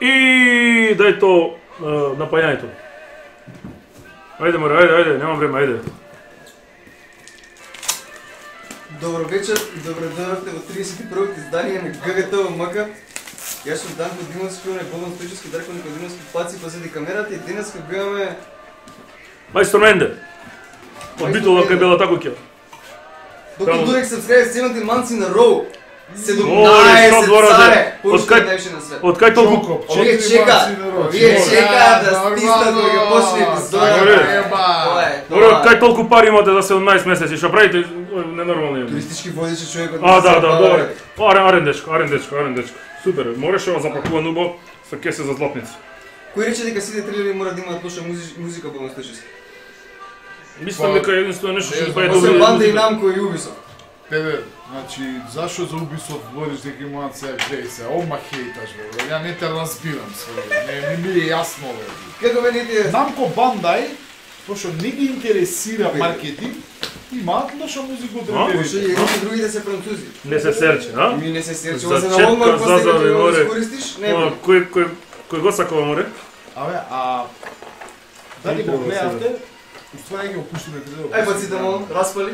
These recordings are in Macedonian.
И дај то напајањето. Ајде море, ајде, немам време, ајде. Добро вечер и добро дојдовте во 31-то издание на ГГТ МК. Јас сум Данко Димовски, оној Богдан Стојчевски, Дарко Никодимовски, паци позади камерата и денеска биваме Мајстор Менде. Од Битола кај Бела Такуќа. Доктор Дурек subscribe 17 months in a row. 17 царе, пушка највише на свет. Од кај толку? Овие чека да стиснат кога ќе почне епизода. Добро, кај толку пари имате за 17 месеци, што правите ненормално. Туристички водичи човекот. Да, добро. Арен дечко. Супер, мораш ова запакувано убаво со кесе за златници. Кој рече дека сите трилери мора да имаат лоша музика по настојчески? Мислам дека единствено нешто што па е добро. Освен Банда и Намко и Ubisoft. Тебе, значи, зашо за Ubisoft говориш дека имаат сега гледај се, ома хейташ бе, ја не те разбирам се, не ми е јасно бе. Како мене ти е? Намко Бандай, пошто не ги интересира маркетинг, имаат лоша музика од Може и едни и другите се французи. Не се серче, а? Ми не се серче, За ова се на четка, Walmart после зазави, дека го море. искористиш, не бе. Кој го сакува море? Абе, дали го гледавте, уствари ги опуштиме каде. Ај баците му, распали.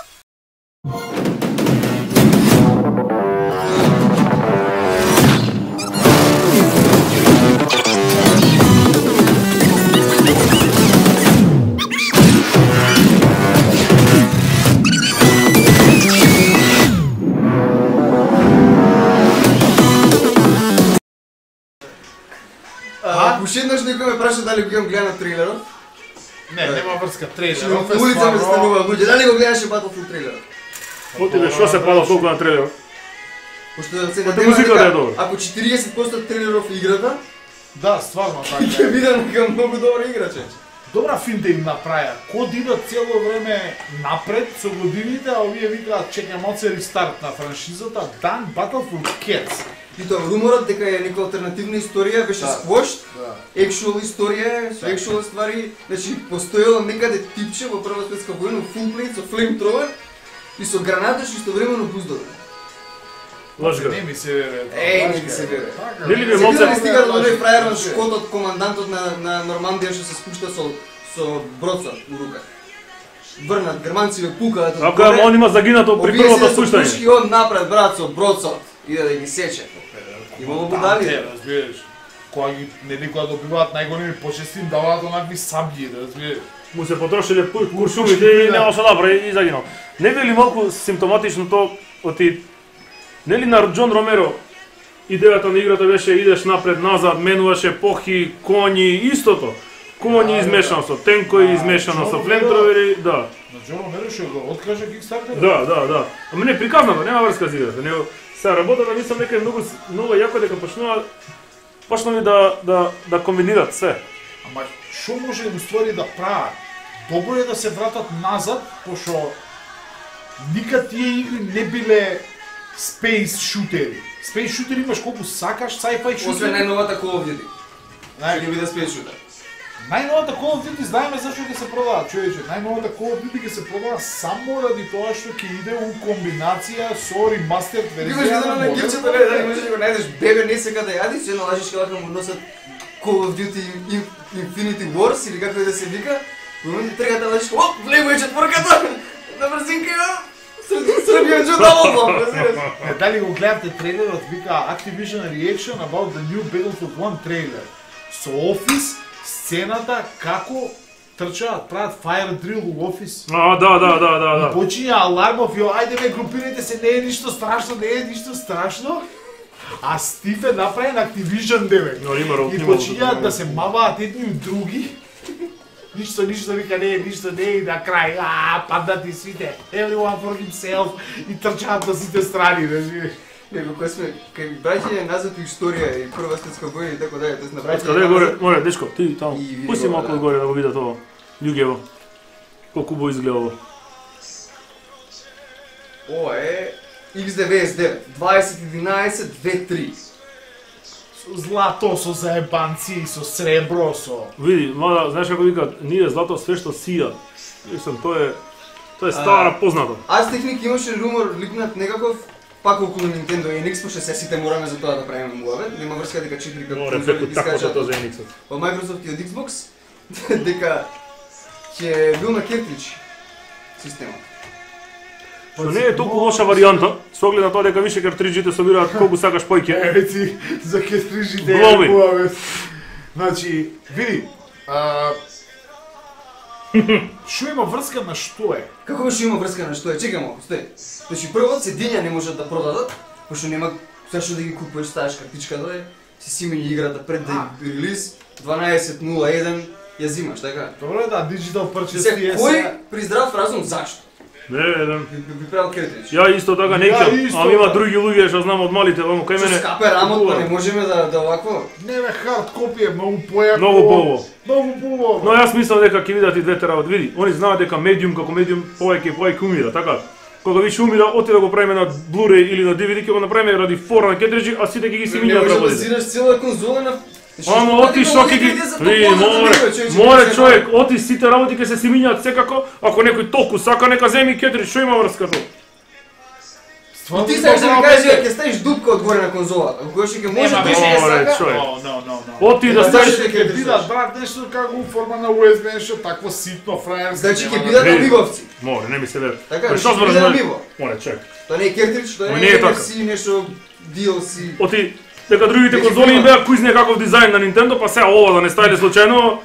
Уште еднаш некој ме праша дали го имам гледан трилерот. Не, нема врска трейлер. На улица ме станува луѓе, дали го гледаше Battlefield трилерот? Отиве, што се пада толку на трейлерот? Пошто сега Па музиката е добра. ако 40% трилеров играта, Да, стварно така. ќе видам дека многу добра игра чече. Добра филм да им направија. Код идат цело време напред со годините, а овие викаат чекам малце рестарт на франшизата, дан Battlefield Cats. И тоа руморот дека е нека алтернативна историја беше сквошт, actual историја, со actual ствари, значи постоело некаде типче во Прва светска војна, full plate со flamethrower и со граната што истовремено буздови. Лажга. Не ми се вере. Не ми се вере. Нели би Се малце видели стига до оној фрајер на шкотот, командантот на Нормандија што се спушта со броца у рука. Врнат, германци пукаат. Ако он има загинато при првото спуштање. Пушки он напред брат со броцот иде да ги сече. Имало будали. Разбираш. Кога добиваат најголеми почести, им даваат онакви сабји, разбираш. Му се потрошиле куршумите и нема што направи и загинал. Не би ли малку симптоматично то оти нели на Џон Ромеро идејата на играта беше идеш напред назад, менуваше епохи, коњи, истото. Коњи измешано со тенкови, измешано со флемтровери, да. На Џон Ромеро што го откаже Kickstarter? Да. Ама не приказнато, нема врска за играта. Сега работата мислам дека е многу јако дека почнали да комбинират све. Ама што може уствари да прават? Добро е да се вратат назад, пошто никад тие игри не биле space shooteri. Space shooteri имаш колку сакаш, sci-fi shooteri. Освен најновата Call of Duty. Ќе биде space shooter. Најновата Call of Duty знаеме зашто ќе се продава, човече. Најновата Call of Duty ќе се продава само ради тоа што ќе иде у комбинација со ремастерд верзија. Имаш едно на гирчето, дали можеш да го најдеш бебе не сека да јадиш, едно лажиш кога му носат Call of Duty Infinity Wars или како и да се вика. Во момент тргата лажиш, оп, влегува е четворката. На брзинка ја. Србија джудало, разбираш. Дали го гледате трейлерот, вика Activision Reaction about the new Battlefield 1 трейлер. Со Office сцената како трчаат, прават fire drill у Office. Да. И почиња алармов, ајде ме групирајте се, не е ништо страшно. А Стив е направен Activision девек. И почињаат да се маваат едни од други. ништо вика ништо не и на крај, паднати сите, everyone for himself и трчаат на сите страни, знаеш. Него кој сме кај браќање назад у историја и Прва светска војна и така дале, тоа на браќање. Каде горе, море, дечко, ти таму. И види Пусти го, малку да. горе да го видат ово. Љуѓево. Колку убаво изгледа ово. Ова е X99 2011-23. Злато со заебанци, со сребро, со... Види, мада, знаеш како викаат, ние злато све што сија. Мислам, тоа е стара познато. Аз техник имаше румор ликнат некаков пак околу Nintendo NX, пошто се сите мораме за тоа да правиме муавет. Нема врска дека 4 како Море, преку таквото тоа за Enix-от. Во Microsoft и од Xbox дека ќе бил на кертридж системот. Што не е толку лоша варијанта, со оглед на тоа дека више картриджите собираат колку сакаш појќе. Еве за кестрижите Глови. Значи, види, што има врска на што е? Како што има врска на што е? Чекај малку, стој. Значи прво седиња не можат да продадат, пошто нема зашто да ги купуваш, ставаш картичката е, си симени играта пред да релиз 12.01 ја зимаш, така? Добро е да, диджитал purchase Се тие кој при здрав разум зашто? Не, еден. Би правил кертридж. Ја исто така не Ја ќам, исто ама има така. други луѓе што знам од малите, оно кај Што мене. скапе рамот, па не можеме да овакво. Не бе, хард копи е многу појако. Многу поубаво. Многу поубаво. Но јас мислам дека ќе видат и двете работи. Види, они знаат дека медиум како медиум повеќе умира, така? Кога више умира, оти да го правиме на Blu-ray или на DVD, ќе го направиме ради фора на кертриджи, а сите ќе ги си Не минат можеш да работите. зираш цела конзола на... Ама оти што ќе ги... Море човек, оти сите работи ќе се си минјаат секако, ако некој толку сака, нека земи кертридж, што има врска тоа? Ти сакаш да ми кажеш дека ќе ставиш дупка одгоре на конзолата, која ќе може Нема, беше не, Море, сака. човек. No. Оти да Ема, ставиш... зашто Ќе бидат, брат, нешто како форма на USB, нешто такво ситно, фраерско. Значи нема ќе да- бидат Не. амибовци. Море, не ми се верува. Така, Ма, што што ќе биде збораш? амибо. Море, човек. Тоа не е кертридж, тоа Ма не не е е така. NFC, нешто DLC. Оти, дека другите Веќе конзоли им има. беа кујзне каков дизајн на Nintendo, па сега ова да не ставиле случајно,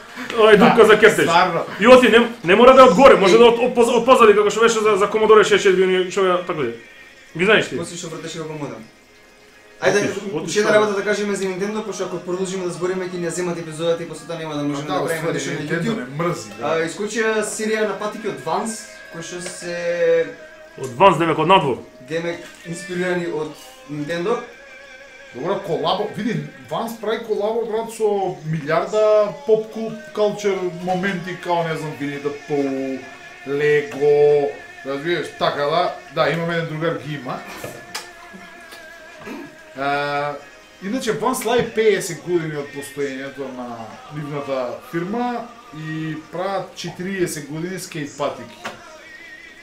е дупка за кертридж. Стварно. И оти не мора да е одгоре, може да од позади како што беше за Commodore 64, што ја така е. Ги знаеш ти? После што вртеше го модем. Ајде, Оти уште една што? работа да кажеме за Nintendo, пошто ако продолжиме да збориме ќе ни ја земат епизодата и после тоа нема да можеме да правиме нешто на Nintendo YouTube. не мрзи. да. Искочија серија на патики од Vans, кои што се Од Vans демек од надвор. демек инспирирани од Nintendo. Добро, колабо, види, Vans прави колабо, брат, со милиарда поп кулчер моменти, као, не знам, Winnie the Pooh, Lego, разбираш, така да, имам еден другар ги има. Иначе Vans слави 50 години од постоењето на нивната фирма и прават 40 години скейт патики.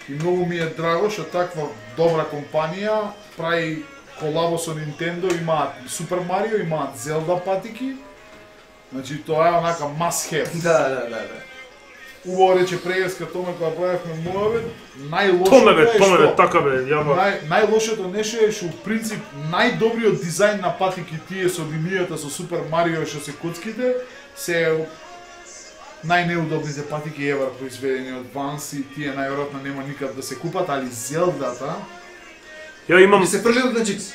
И многу ми е драго што таква добра компанија прави колабо со Nintendo, имаат Super Mario, имаат Zelda патики. Значи тоа е онака must have. Да. Убаво рече Прејерска Томе кога правевме муавет, Томе бе, што така бе, јаба. најлошото нешто е што у принцип најдобриот дизајн на патики тие со линијата со Super Mario што се коцките се најнеудобните патики евар произведени од Vans и тие најверојатно нема никад да се купат, али Зелдата Ја имам И се фрлил на Джикс.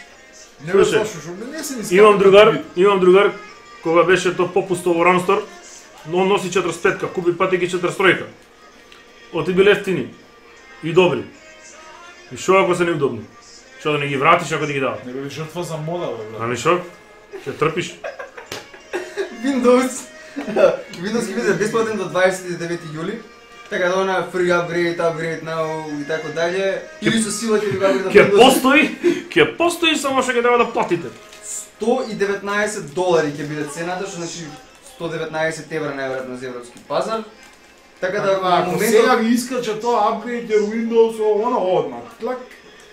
не бе Слушај, слушаш, не се ни имам другар кога беше тоа попусто во Рамстор, но он носи 45-ка, купи патики 43-ка. Оти биле ефтини и добри. И шо ако се неудобни? Шо да не ги вратиш ако ти ги дадат? Не бе жртва за мода бе брат. Ами шо? Ќе трпиш? Windows ќе биде бесплатен до 29 јули. Така да на free upgrade now и така дале. Или со сила ќе ви го апгрейдат Ќе постои, само што ќе треба да платите. $119 ќе биде цената, што значи 119 евра најверојатно за европски пазар. Така да во Ако сега моментот, ви искача тоа апгрейдер Windows оно одмак. Тлак.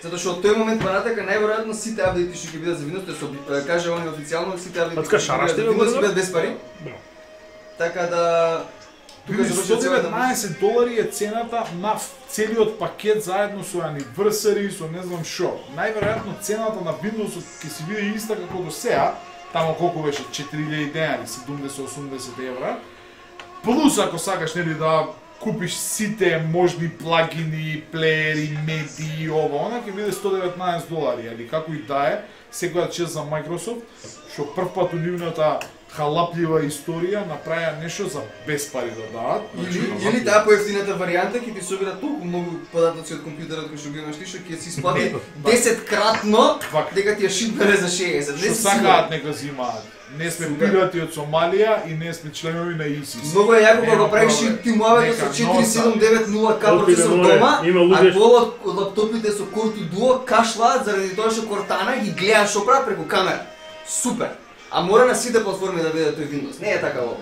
затоа што од тој момент понатака најверојатно сите апдејти што ќе бидат за Windows, тоа се каже они официјално сите апдејти Пацка, шараш ти ме Windows ќе го бидат без пари. Браво. Така да Тука завршува целата- $119 е цената на целиот пакет заедно со anniversary, со не знам шо. Најверојатно цената на Windows ќе се биде иста како до сега, тамо колку беше 4000 денари, 70-80 евра. Плюс ако сакаш нели да купиш сите можни плагини, плеери, медии, ова, она ќе биде $119, али како и да е, секоја чест за Microsoft, што прв пат у нивната халаплива историја направија нешто за без пари да дадат. Или таа поевтината варијанта ќе ти собира толку многу податоци од компјутерот кој што го имаш ти, што ќе си исплати 10-кратно дека ти ја шипнале за 60. Што сакаат нека зимаат. Не сме пирати од Сомалија и не сме членови на ИСИС. Многу е јако кога правиш тимовето со 4790K процесор дома, а по лаптопите со Core 2 Duo кашлаат заради тоа што Cortana ги гледаат што прават преку камера. Супер! А мора на сите платформи да биде тој Windows. Не е така ова.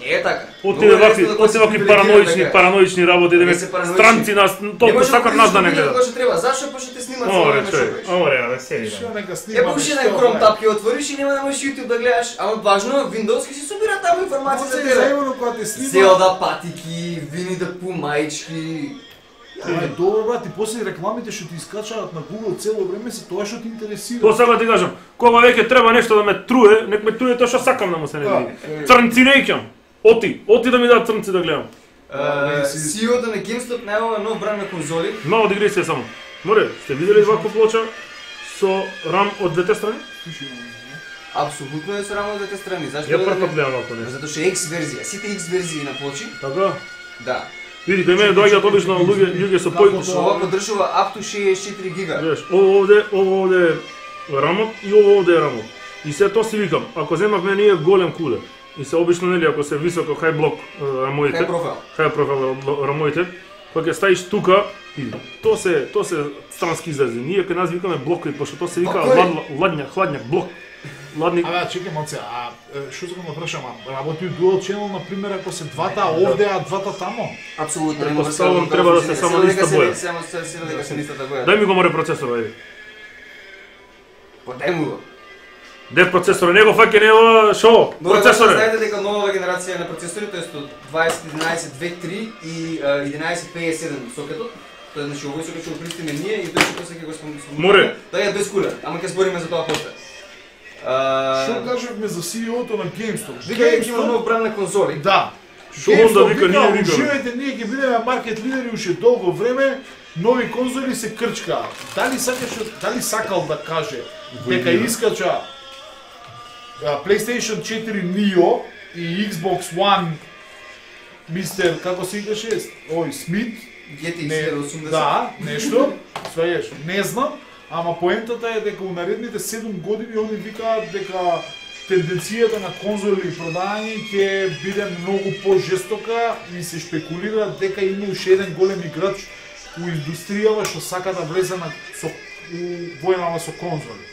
Не е така. Оти вакви параноични работи, да странци нас толку сакат нас да не гледат. Тоа што треба. Зашто пошто те снимаат само на човек? Ора, да седи. Што нека Е, снима. пуши на Chrome tab ќе отвориш и нема да можеш YouTube да гледаш, ама важно Windows ќе си собира таму информација за тебе. Заедно кога те снима. Зелда патики, Вини да Пу маички. Е, добро брат, и после рекламите што ти искачаат на Google цело време се тоа што ти интересира. Тоа сега ти кажам, кога веќе треба нешто да ме труе, нек ме труе тоа што сакам да му се не види. Црнци не икам. Оти да ми дадат црнци да гледам. CEO-то на GameStop најава нов бранд на конзоли. Мало дигресија само. Море, сте видели ваква плоча со рам од двете страни? Апсолутно е со рам од двете страни. Зашто? Ја прв пат гледам вакво нешто. Затоа што е X верзија, сите X верзии на плочи. Така? Да. Види, кај мене доаѓаат обично луѓе со Што ова поддржува up to 64 гига. Знаеш, ово овде е рамот и ово овде е рамот. И се тоа си викам, ако земавме ние голем кулер, и се обично нели ако се високо хай блок рамоите, хай профил рамоите, кога ќе ставиш тука, и тоа се странски изрази. Ние кај нас викаме блокови, пошто тоа се вика хладњак, блок. Ладник. Чекај малце, што сакам да прашам, работи dual channel на пример ако се двата овде, а двата тамо? Апсолутно, Предпоставувам треба да се само на иста боја. Само дека се на истата боја. Дај ми го море процесор, ајде. Дај му го. Дев процесор, него фаќа него шо? Процесор. Знаете дека новава генерација на процесори, тоест од 2011-23 и 1157 сокетот, тоа е значи овој сокет што го пристиме ние и тој што после ќе го спомнуваме. Море. Тоа е без кулер, ама ќе збориме за тоа после. Што кажавме за CEO-то на GameStop? Вика дека има нов бранд на конзоли. Да. Што он да вика, ние викаме. Уживајте, ние ќе бидеме маркет лидери уште долго време, нови конзоли се крчкаат. Дали сакал да каже дека искача PlayStation 4 Neo и Xbox One мистер, како се викаше, Смит? GTX 1080. Да, нешто, сваѓаш, не знам, ама поентата е дека у наредните 7 години они викаат дека тенденцијата на конзоли и продање ќе биде многу пожестока и се шпекулира дека има уште еден голем играч у индустријава што сака да влезе со војнава со конзоли.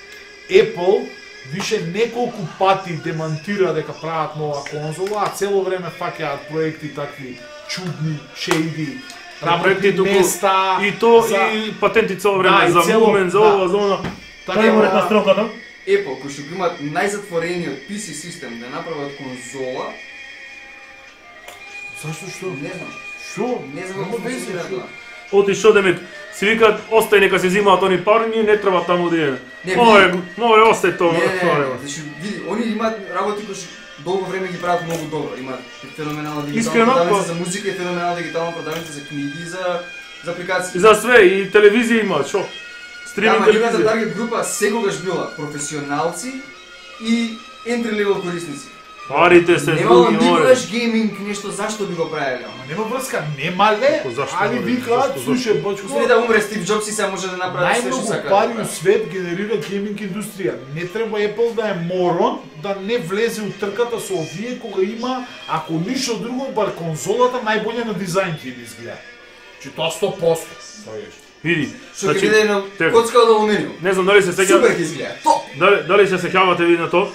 Apple више неколку пати демантира дека прават нова конзола, а цело време фаќаат проекти такви чудни, шейди, работни места и то и патенти цело време за мувмент, за ова, за она. Така има на строката. Apple, кои што го имаат најзатворениот PC систем да направат конзола. Зашто што? Не знам. Што? Не знам како функционира тоа. Оти што демек, си викаат, остај нека се зимаат они пари, ние не треба таму да идеме. Море, остај тоа. Значи, види, они имаат работи кои што долго време ги прават многу добро. Имаат феноменална дигитална продавница за музика и феноменална дигитална продавница за книги и за апликации. За све, и телевизија имаат, шо? Стриминг телевизија. Нивната таргет група секогаш била професионалци и entry level корисници. Парите се немало други, море. никогаш гейминг нешто зашто би го правеле. Нема врска, немале, али викаат, слушај, бачко. Слушај да умре Стив Џобс и се може да направи се што сака. Најмногу пари у свет генерира гейминг индустрија. Не треба Apple да е морон да не влезе у трката со овие кога има, ако ништо друго, бар конзолата најбоља на дизајн ќе изгледа. Че тоа 100%. Види, Што ќе биде на коцка од алуминиум. Не знам дали се сеќавате. Супер ќе изгледа. Топ. Дали се сеќавате ви на тоа?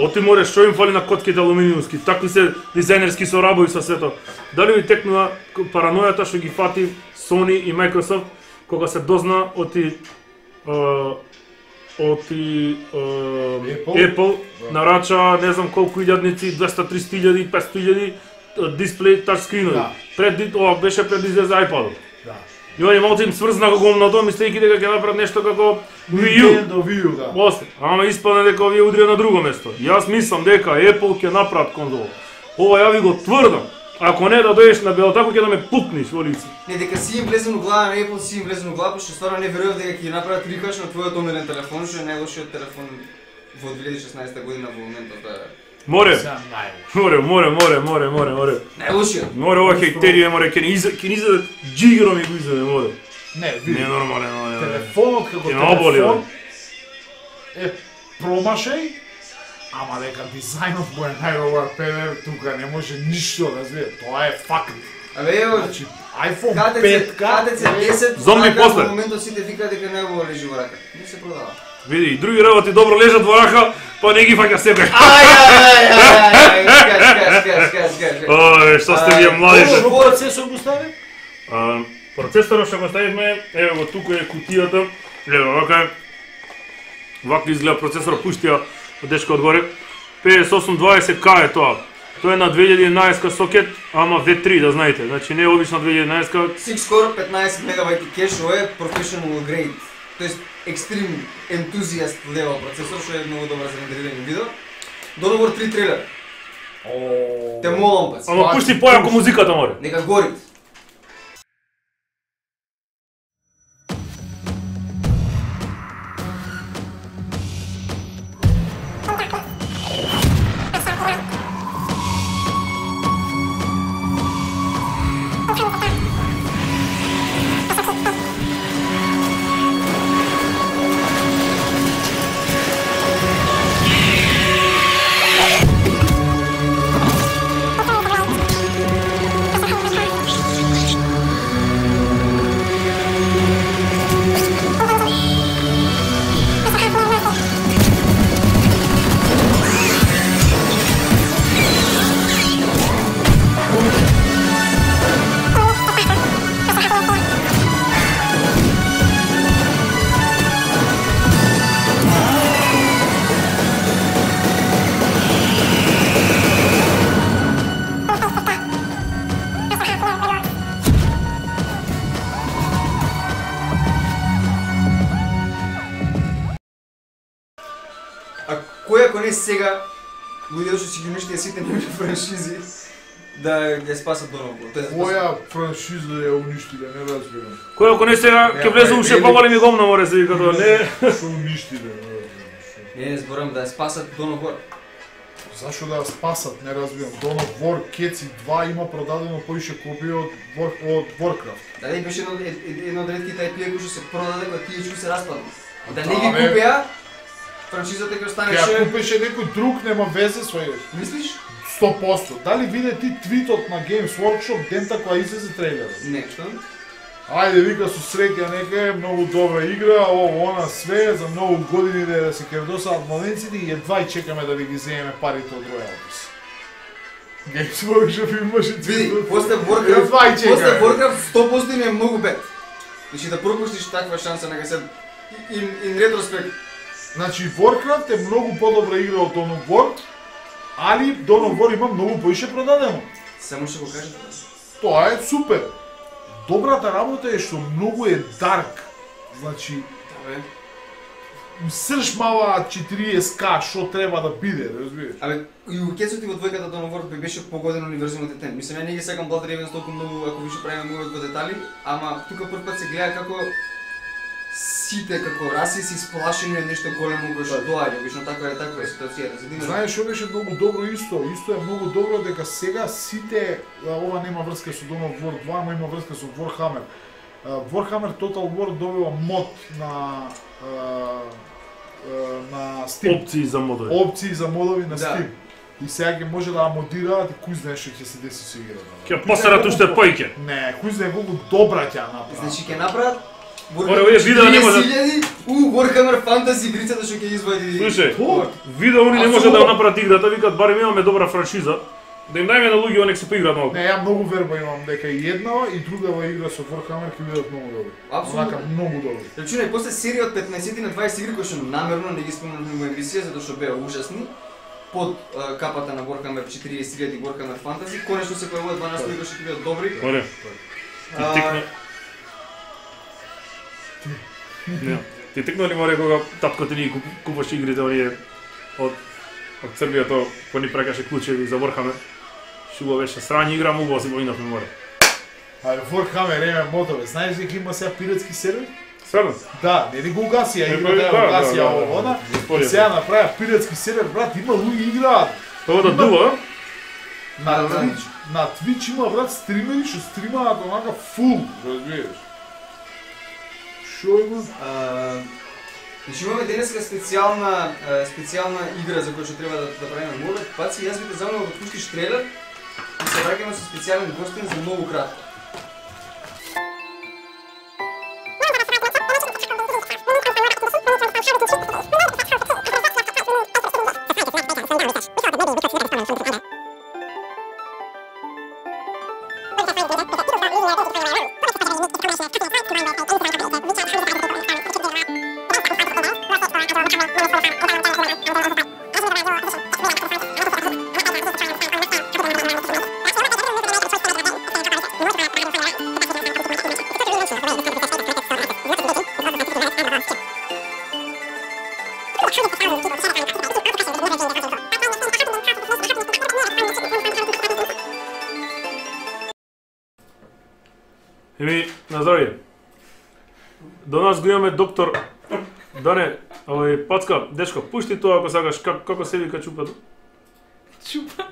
Оти море што им фали на котките алуминиумски, такви се дизајнерски соработи со сето. Дали ви текнува паранојата што ги фати Sony и Microsoft кога се дозна оти Apple нарача не знам колку илјадници, 200-300.000, 500.000 дисплеј тачскринови. Пред ова беше пред излезе iPad. Да. И они малку им сврзна гомното, мислејќи дека ќе направат нешто како Wii U. Да. После, ама испадне дека овие удрија на друго место. Јас мислам дека Apple ќе направат конзола. Ова ја ви го тврдам. Ако не да дојдеш на белотако ќе да ме пукнеш во лице. Не, дека си им влезен у глава на Apple, си им влезен у глава, што стварно не верував дека ќе направат рикаш на твојот омилен телефон, што е најлошиот телефон во 2016 година во моментот. Море. Сега најлошо. Море. Најлошиот. Море ова хејтерија, море ќе ни изаде джигро ми го изаде, море. Не, види. Не нормален, море. Телефонот како телефон е промашај, ама дека дизајнот му е најдобар педер, тука не може ништо да звие. Тоа е факт. Абе ево, Значи, iPhone KTC 5K 10, Зомби после. Во моментот сите викаат дека не го лежи во рака. Не се продава. Види, и други работи добро лежат во рака, па не ги фаќа себе. Скаш. Што сте вие млади? Што процесор го стави? Процесорот што го ставивме, еве го тука е кутијата. Еве вака е. Вака изгледа процесорот, пуштија дечко одгоре. 5820K е тоа. Тоа е на 2011 сокет, ама V3 да знаете. Значи не е обична 2011. 6-core 15 мегабайти кеш, ова е professional grade. Тоест extreme enthusiast level процесор, што е многу добар за рендерирање видео. Donovar 3 трейлер. Те молам пац. Ама пушти појако музиката море. Нека гори. Кој ако не сега луѓето што си ги уништија сите нови франшизи да ја спасат Donovar? Која франшиза ја уништиле, не разбирам. Кој ако не сега ќе влезе уште поголеми гомна море се вика тоа. Не. Што уништиле, не разбирам. Не зборам да ја спасат Donovar. Зашо да ја спасат, не разбирам. Donovar Кеци 2 има продадено поише копија од Warcraft. Да не беше едно од ретките IP-а кои што се продаде кога тие чуи се распадна. Да не Да, ги бе. купеа, франшизата ќе Ја останеше. купеше некој друг, нема везе со ја. Мислиш? 100%. Дали виде ти твитот на Games Workshop дента која излезе трейлерот? Не, што? Ајде, вика со среќа нека е многу добра игра, ово она све за многу години да се кердосаат младенците и едва и чекаме да ви ги земеме парите од роялтис. Games Workshop имаше Види, твитот. после Едва и Warcraft, чекаме. после Warcraft 100% им е многу бед. Значи да пропуштиш таква шанса нека се in retrospect. Значи Warcraft е многу подобра игра од Donovar, али Donovar има многу поише продадено. Само што го кажете. Тоа е супер. Добрата работа е што многу е дарк. Значи, Абе, срж мала 40K што треба да биде, разбираш? абе и у кецот и во двојката Donovar би беше погоден универзумот етен. Мислам ја не ги секам Blood Ravens толку многу ако више правиме многу во детали, ама тука прв пат се гледа како сите како раси се исплашени од нешто големо кој што доаѓа, вично таква е ситуацијата. За да има Знаеш што беше многу добро исто? Исто е многу добро дека сега сите, ова нема врска со Donovar 2, ама има врска со Warhammer. Warhammer Total War добива мод на Steam. Опции за модови. Опции за модови на Да. Steam. И сега ќе може да ја модираат и кој знае што ќе се деси со играта. Ќе посерат уште појќе. Не, кој знае колку добра ќе ја направат. Значи ќе направат Оре, овие видео не може- 40.000 Warhammer Fantasy игрицата што ќе извади. Слушај, Тоа. видео они не може да Апсолутно. ја направат играта, викаат барем имаме добра франшиза. Да им дајме на луѓе нека се поиграат малку. Не, ја многу верба имам дека и еднава и другава игра со Warhammer ќе бидат многу добри. Апсолутно. Онака многу добри. Рачунај после серија од 15 на 20 игри кои што намерно не ги спомнавме во емисија затоа што беа ужасни. Под капата на Warhammer 40.000 Warhammer Fantasy, конечно се појавуваат 12 игри кои што ќе бидат добри. Оре. Ти А, тикна. Не. Ти тикна ли море кога татко ти ни купуваше игрите оние од Србија тоа кој ни прекаше клучеви за Warhammer? Шубо беше срање игра, му си го инав море. Ајде, Warhammer еме модове. Знаеш дека има сега пиратски сервер? Стварно? Да, нели го угасија, играта да, ја угасија да, овода. да. Сега направија пиратски сервер, брат, има луѓе играат. Тоа да дува, На Twitch има, брат, стримери што стримаат онака фул, разбираш. Шо има? Значи имаме денеска специјална игра за која што треба да правиме модот. Паци, јас ви замолам да пуштиш трейлер и се враќаме со специјален гостин за многу кратко. на здравје. До нас го имаме доктор Дане, Пацка, дечко, пушти тоа ако сакаш, како се вика чупата? Чупата?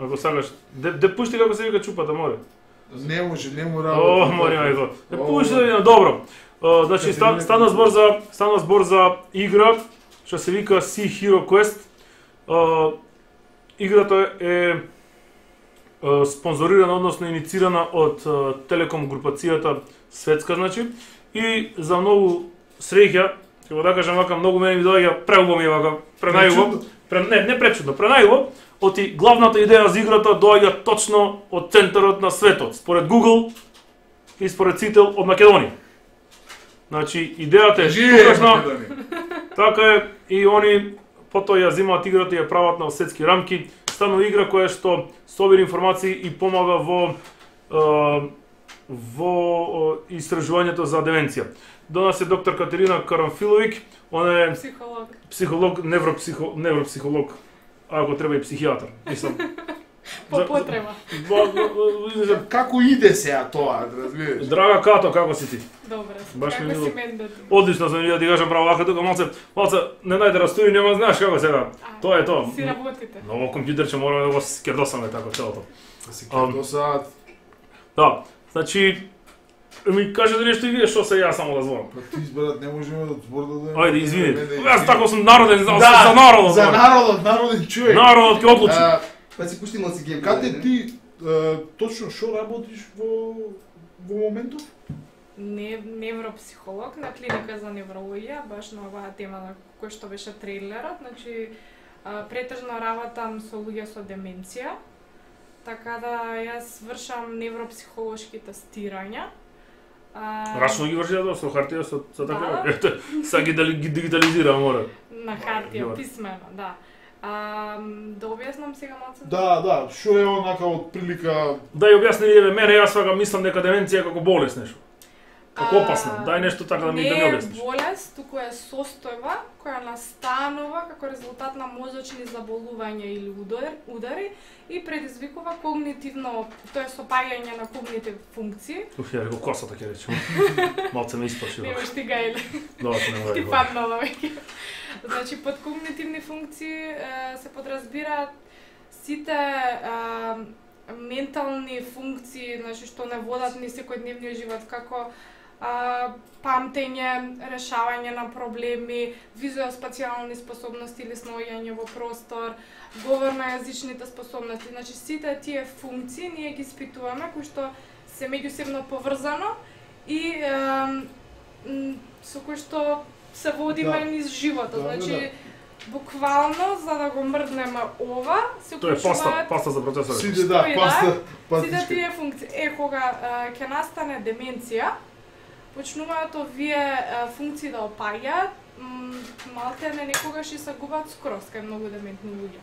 Ако сакаш, де пушти како се вика чупата, море. Не може, не му работи. О, море, ајде. Пушти да видам, добро. Значи стана збор за игра што се вика Sea Hero Quest. Играта е спонзорирана, односно инициирана од Телеком групацијата светска, значи, и за многу среќа, ќе го да кажам вака, многу мене ми доаѓа преубаво ми вака, пренајубаво, не пречудно, пренајубаво, оти главната идеја за играта доаѓа точно од центарот на светот, според Google и според Цител од Македонија. Значи, идејата е тукашна, така е, и они потоа ја земаат играта и ја прават на светски рамки. Станува игра која што собира информации и помага во истражувањето за деменција. До нас е доктор Катерина Карамфиловик, она е психолог, невропсихолог, ако треба и психијатар. Мислам. По потреба. Како иде сега тоа, разбираш? Драга Като, како си ти? Добре, Баш како ми си мен да ти? Одлично сум да ти кажам право вака тука малце не најде растури, нема знаеш како сега. Тоа е тоа. Си работите. Ново компјутерче мораме да го скердосаме така целото. Се кердосаат. Да, значи ми кажете нешто и вие што се ја само да зборам. Па ти избрат не можеме да зборам. Ајде, извини. Јас тако сум народен, за народот. За народен човек. Народот ќе одлучи. Па си пусти малци гейм. Каде ти точно што работиш во моментов? Невропсихолог на клиника за неврологија, баш на оваа тема на кој што беше трейлерот, значи претежно работам со луѓе со деменција. Така да јас вршам невропсихолошки тестирања. Рачно ги врши со хартија со така. Ете, сега ги дигитализира мора. На хартија, писмено, да. Да објаснам сега малце? Да, што е онака од прилика... Да ја објасни еве мене, јас сега мислам дека деменција е како болест нешто. Како опасна. Дај нешто така да ми објасниш. Не е болест, туку е состојба која настанува како резултат на мозочни заболувања или удари и предизвикува когнитивно, тоа е сопаѓање на когнитивни функции. Ја рекол косата ќе речем. Малце ме исплаши. Немаш ти гајле. Добро, не мора. Ти паднала веќе. Значи, под когнитивни функции се подразбираат сите ментални функции, значи што не водат ни секојдневниот живот, како памтење, решавање на проблеми, визуелно-спацијални способности или сноѓање во простор, говорно-јазичните способности. Значи, сите тие функции ние ги испитуваме, кои што се меѓусебно поврзано и со кои што се водиме низ животот. Значи, буквално, за да го мрднеме ова, се уклучуваат... Тоа е паста за процесор. Сите тие функции. Кога ќе настане деменција, почнуваат овие функции да опаѓаат, малте не некогаш и се губат скроз кај многу дементни луѓе.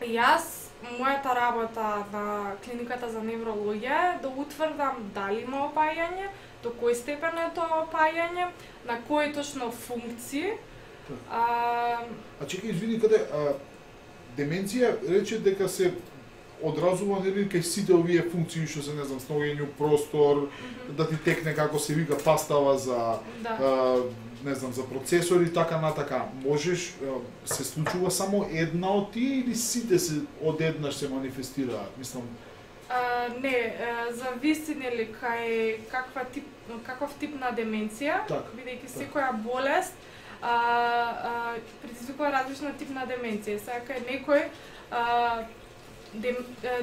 Јас, мојата работа на клиниката за неврологија е да утврдам дали има опаѓање, до кој степен е тоа опаѓање, на кои точно функции. Чекај, извини, каде деменција рече дека се одразува нели кај сите овие функции што се не знам сноѓање простор, да ти текне како се вика пастава за не знам за процесори така натака. Можеш се случува само една од тие или сите се одеднаш се манифестираат? Мислам не, зависи нели кај каков тип на деменција, бидејќи секоја болест предизвикува различна тип на деменција. Сега кај некој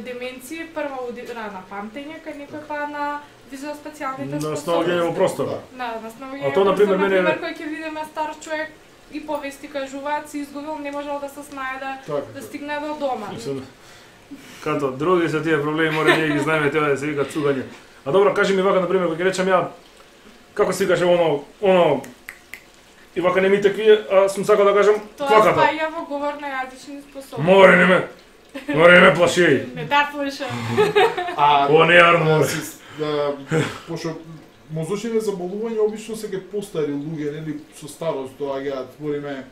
деменција прва удира на памтење, кај некој па на визуоспацијалните способности. На сноѓање во простора. На сноѓање во простора, например, кој ќе видиме стар човек и повести кажуваат, се изгубил, не можел да се снајде да стигне до дома. Като други се тие проблеми, мора ние ги знаеме тоа да се вика цугање. А добро, кажи ми вака, например, кога ќе речам ја, како се викаше оно, и вака не ми текви, а сум сакал да кажам кваката. Тоа спаја во говор на јазични способности. Море не ме плаши. Не да плаша. О, не армор. Пошто мозочните заболувања обично се ке постари луѓе, нели со старост доаѓаат, збориме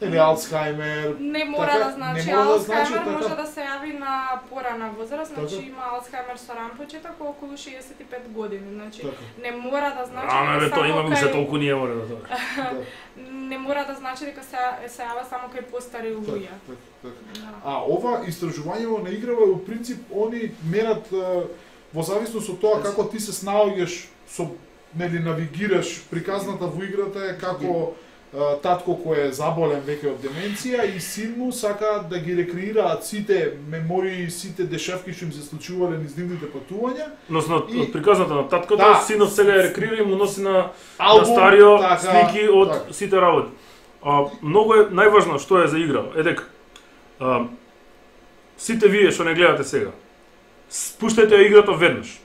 или Алцхаймер. Не мора да значи Алцхаймер, може да се јави на порана возраст, значи има Алцхаймер со ран почеток околу 65 години, значи не мора да значи дека тоа има уште толку ние мора да тоа. Не мора да значи дека се јава само кај постари луѓе. А ова истражување на играва во принцип они мерат во зависност од тоа како ти се снаоѓаш со нели навигираш приказната во играта е како татко кој е заболен веќе од деменција и син му сака да ги рекреираат сите мемории, сите дешавки што им се случувале низ нивните патувања. Односно од приказната на таткото, синот сега ја рекреира и му носи на старио слики од сите работи. Многу е најважно што е за игра, е дека сите вие што не гледате сега, спуштајте ја играта веднаш.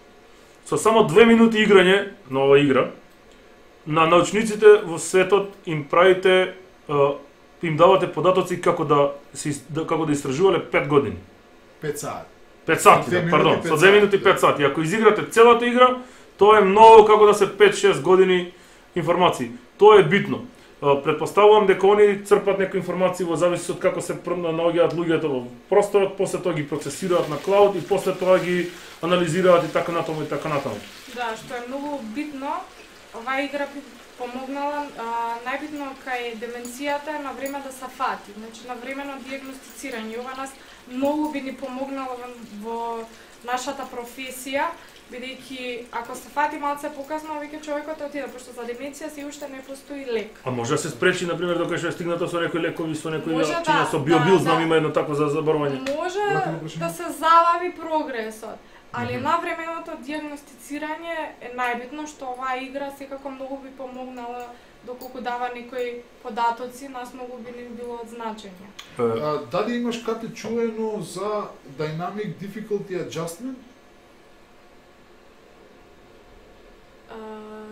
Со само 2 минути играње на оваа игра, на научниците во светот им правите, им давате податоци како да истражувале 5 години. 5 сати. 5 сати, пардон, со 2 минути 5 сати. Ако изиграте целата игра, тоа е многу како да се 5-6 години информации. Тоа е битно. Предпоставувам дека они црпат некои информации во зависност од како се наоѓаат луѓето во просторот, после тоа ги процесираат на клауд и после тоа ги анализираат и така натаму и така натаму. Да, што е многу битно. Оваа игра би помогнала најбитно кај деменцијата на време да се фати, значи на времено дијагностицирање. Ова нас многу би ни помогнало во нашата професија, бидејќи ако се фати малце покасно, веќе човекот отиде, пошто за деменција се уште не постои лек. А може да се спречи, например, докато што е стигнато со некои лекови, со некои чинја, со биобил, знам има едно такво за заборување. Може да се залави прогресот. Али навременото дијагностицирање е најбитно, што оваа игра секако многу би помогнала доколку дава некои податоци, нас многу би ни било од значење. Дали имаш кате чуено за Dynamic Difficulty Adjustment?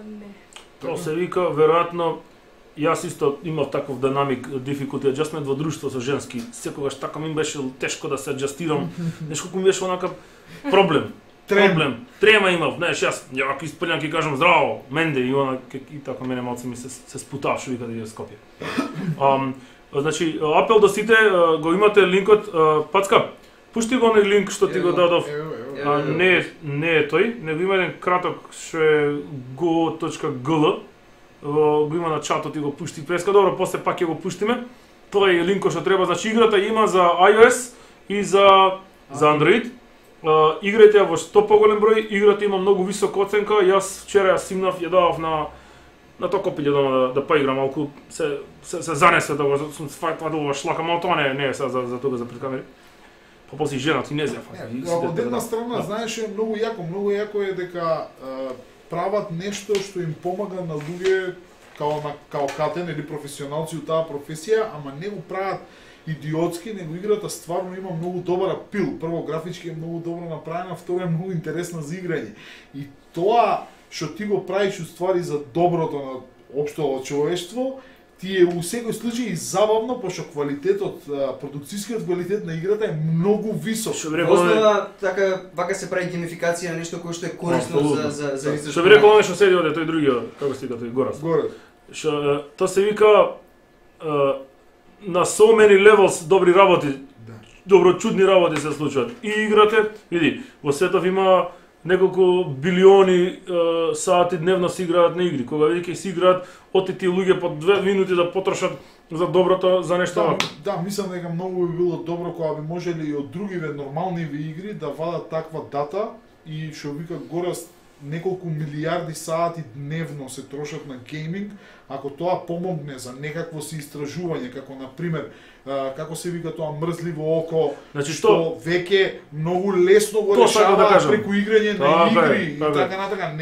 Не. Тоа се вика, веројатно, јас исто имав таков Dynamic Difficulty Adjustment во друштво со женски. Секогаш така ми беше тешко да се аџастирам. Нешто ми беше онака проблем. Трема имав, знаеш, јас ако испрљам ќе кажам здраво, менде и она и така мене малце ми се спутав што вика да ја Скопје. Значи, апел до сите, го имате линкот, Пацка, пушти го оној линк што ти го дадов. Не е тој, него има еден краток што е go.gl, го има на чатот и го пушти преска, добро, после пак ќе го пуштиме. Тоа е линкот што треба, значи играта има за iOS и за Android. Играјте ја во што поголем број, играта има многу висока оценка. Јас вчера ја симнав, ја давав на тоа копиле дома да поиграм малку, се занесе да го сум фатував шлака, мал тоа не е за тога за пред камери. Па после женат и не зефа. Од една страна, знаеш, е многу јако е дека прават нешто што им помага на луѓе као катен или професионалци од таа професија, ама не го прават идиотски, него играта стварно има многу добар апил. Прво, графички е многу добро направена, второ е многу интересна за играње. И тоа што ти го правиш уствари за доброто на општото човештво, ти е у секој случај забавно, пошто квалитетот, продукцијскиот квалитет на играта е многу висок. Основа така вака се прави геймификација на нешто кое што е корисно за изражување. Што би рекол оној што седи оде тој другиот, како се вика тој Горас. Што тоа се вика на so many levels добри работи добро чудни работи се случуваат. И играте, види, во светов има неколку билиони сати дневно се играат на игри. Кога види ќе се играат, оти тие луѓе по 2 минути да потрошат за доброто, за нешто вако. Да, мислам дека многу би било добро кога би можеле и од другиве нормалниви игри да вадат таква дата и што вика горе неколку милиарди сати дневно се трошат на гейминг, ако тоа помогне за некакво си истражување, како на пример како се вика тоа мрзливо око, Значи што веќе многу лесно го решава преку играње на игри и така натака,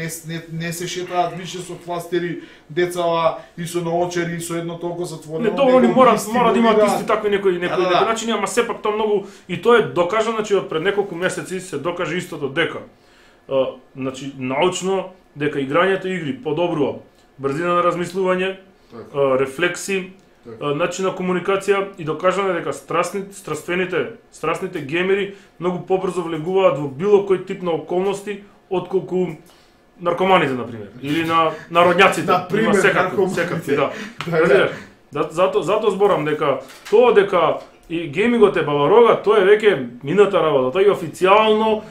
не се шетаат више со фластери децава и со наочери и со едно толку затворено. Не, тоа они мора да имаат исти такви некои начини, ама сепак тоа многу и тоа е докажано, значи од пред неколку месеци се докаже истото дека значи научно дека играњето игри подобрува брзина на размислување, рефлекси, начин на комуникација и докажано дека страстните геймери многу побрзо влегуваат во било кој тип на околности отколку наркоманите на пример или на народњаците. Например, секакви, да. Затоа зборам дека тоа дека и геймингот е баба-рога, тоа е веќе мината работа. Тоа е официјално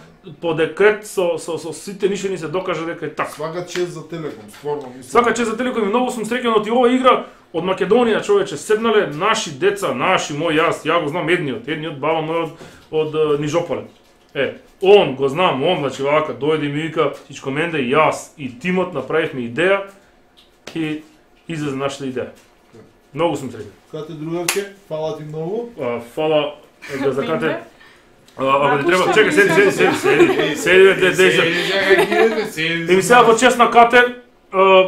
по декрет со сите нишени се докаже дека е така. Свака чест за Телеком, стварно мислам. Свака чест за Телеком и многу сум среќен од оваа игра од Македонија, човече, седнале наши деца, ја го знам едниот баба мој од Нижополе. Он го знам, значи вака дојде и ми вика всичко менде, јас и тимот направивме идеја и излезе нашата идеја. Многу сум среќен. Кате другарке, фала ти многу. Фала за Кате. Ако ти треба, чекај, седи. И ми сега во чест на Кате,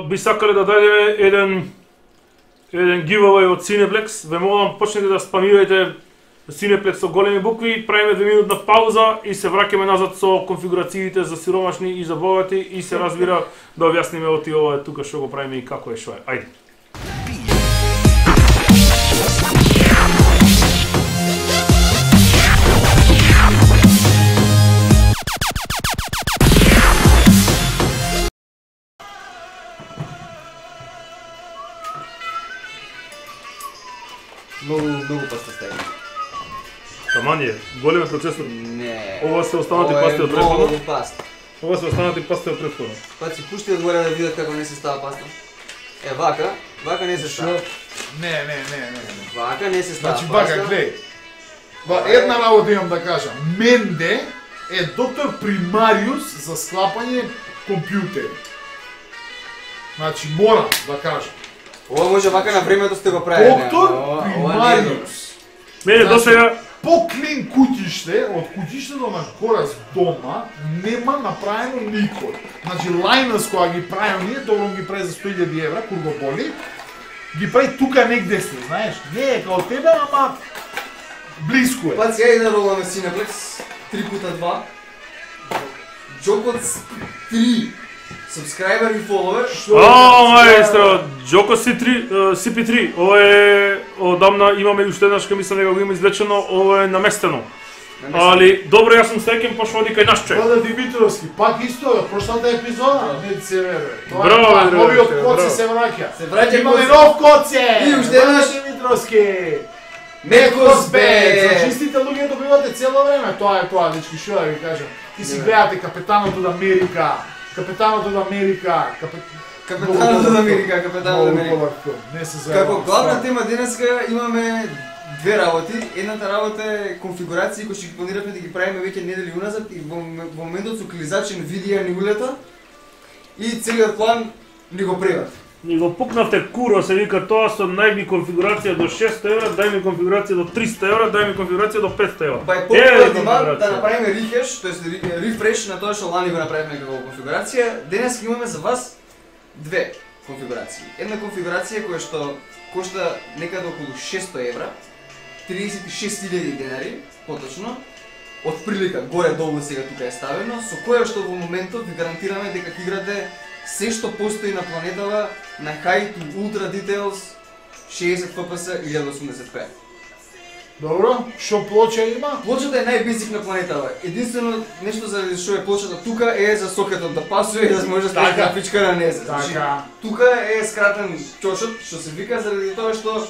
би сакале да дајдеме еден giveaway од Cineplex. Ве молам, почнете да спамирајте Cineplex со големи букви, правиме 2 минутна пауза и се враќаме назад со конфигурациите за сиромашни и за богати и се разбира да објасниме оти ова тука што го правиме и како е шо е. Ајде. Многу паста стави. Таман е, голем процесор. Не. Ова се останати пасти од претходно. Многу паста. Ова се останати пасти од претходно. Па си пушти одгоре да видат како не се става паста. Вака не се става. Не. Вака не се става Значи паста. вака, гледај. Една работа имам да кажам. Менде е доктор примариус за склапање компјутери. Значи морам да кажам. Ова може вака на времето сте го правили. Доктор примариус. Мене досега По-клин куќиште, од куќиштето на Горас дома, нема направено никој. Значи, Лајнас кога ги прави ние, добро ги прави за 100.000 евра, кога го боли, ги прави тука негде сте, знаеш, не е као тебе, ама близко е. Па сега и да роламе Cineplex, 3x2, Джокот 3, subscriber и follower. маестро, Джоко CP3, ова е одамна имаме уште еднаш кога мислам дека го има извлечено, ова е наместено. Али добро, јас сум среќен пошто оди кај наш човек. Влада Димитровски, пак исто од прошлата епизода. Не се вере. Браво, новиот коце се враќа. Се враќа Имаме коце. нов коце. И уште еднаш Димитровски. Мекосбет. Значи истите луѓе добивате цело време, тоа е тоа, дечки, што да ви кажам. Ти си гледате Капетанот од Америка. Капетанот од Америка. Капетанот од Америка, Капетанот од Америка. Не се заебам. Како главна тема денеска имаме две работи. Едната работа е конфигурации кои што ги планираме да ги правиме веќе недели уназад и во моментот со клизачен видео ни улета и целиот план ни го преврат. Ни го пукнавте куро, се вика тоа со дај ми конфигурација до 600 евра, дај ми конфигурација до 300 евра, дај ми конфигурација до 500 евра. Па е по-добро да направиме рехеш, тоест рефреш на тоа што лани го направивме како конфигурација. Денес имаме за вас две конфигурации. Една конфигурација која што кошта некаде околу 600 евра, 36.000 денари, поточно, од прилика горе-долу сега тука е ставено, со која што во моментот ви гарантираме дека ќе играте се што постои на планетава на high to ultra details 60 FPS 1080p. Добро, што плоча има? Плочата е најбезик на планетава. Единствено нешто за што е плочата тука е за сокетот да пасува и да може да стави графичка на незе. Значи, тука е скратен чошот, што се вика заради тоа што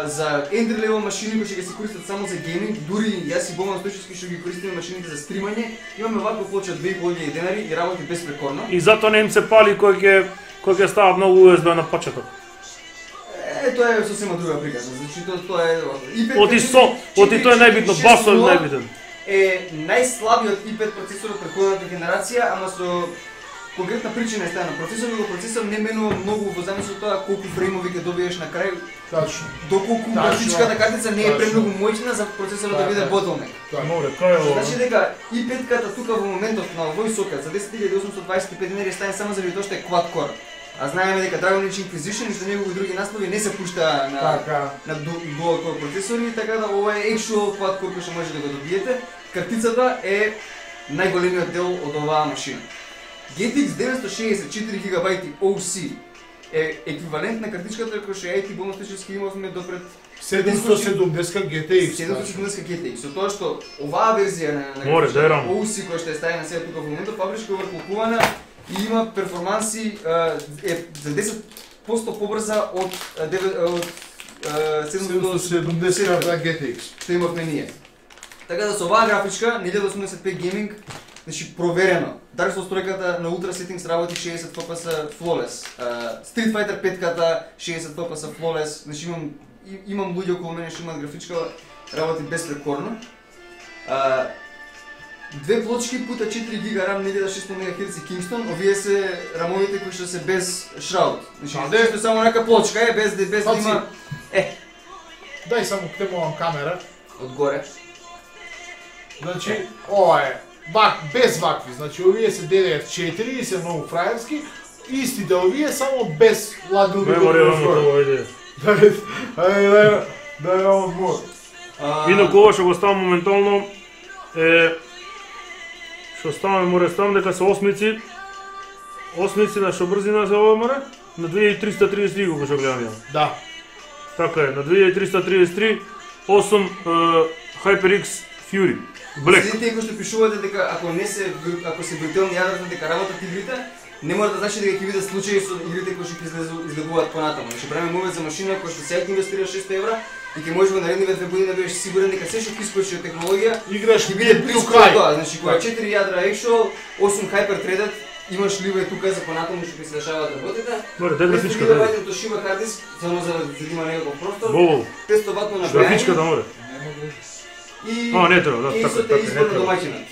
за entry level машини кои ќе се користат само за гейминг, дури јас и Богдан Стојчевски што ги користиме машините за стримање, имаме ваква плоча 2.500 денари и работи безпрекорно. И затоа не им се пали кој ќе стават многу USB на почеток. Тоа е сосема друга приказна, значи тоа е Оти тоа е најбитно, басо е најбитен. Е најслабиот i5 процесор од претходната генерација, ама со конкретна причина е стана. Процесор не менува многу во замисла од тоа колку фреймови ќе добиеш на крај. Тачно. Доколку графичката картица не е премногу моćна за процесорот да биде bottleneck. Море, кај е ова? Значи дека i5-ката тука во моментот на овој сокет за 10.825 денари стане само заради тоа што е quad core. А знаеме дека Dragon Age Inquisition и што негови други наслови не се пушта на dual core процесори, така да ова е actual quad core кој што може да го добиете. Картицата е најголемиот дел од оваа машина. GTX 964 GB OC е еквивалент на картичката која што ја и Богдан Стојчевски имавме допред 770 GTX. 770 GTX. Со тоа што оваа верзија на OC која што е ставена сега тука во моментот фабричка оврколкувана и има перформанси за 10% побрза од 770 GTX што имавме ние. Така да со оваа графичка на 1085 гейминг, значи проверено. Dark Souls 3-ката на Ultra Settings работи 60 FPS flawless. Street Fighter 5-ката 60 FPS flawless. Значи имам луѓе околу мене што имаат графичка работи безпрекорно. 2 плочки пута 4 GB RAM 1600 MHz Kingston, овие се рамовите кои што се без shroud. Значи чисто само нека плочка е без да има Дај само темувам камера одгоре. Значи ова е без вакви, значи овие се DDR4 и се многу фраерски, истите овие само без ладови. Дај одмор. Инаку ова што го ставам моментално што ставаме море ставам дека се осмици на што брзина се ова море на 2333 кога што гледам ја. Да. Така е, на 2333 8 HyperX Fury Black. Следите кои што пишувате дека ако се виртуелни јадрата дека работат игрите, не мора да значи дека ќе видат случаи со игрите кои што ќе излегуваат понатаму. Ќе правиме мовет за машина која што сега ќе инвестира 600 евра и ќе можеш во наредните 2 години да бидеш сигурен дека се што ќе искочи од технологија играш ќе биде близко до тоа. Значи кога 4 јадра actual, 8 hyper threaded, имаш ливе тука за понатаму што ќе се дешаваат работите. Море, дај графичка да ваѓам Toshiba hard disk само за да има некаков простор. 500 ватно на графичката море. И не треба, да, така, избор на домаќинот.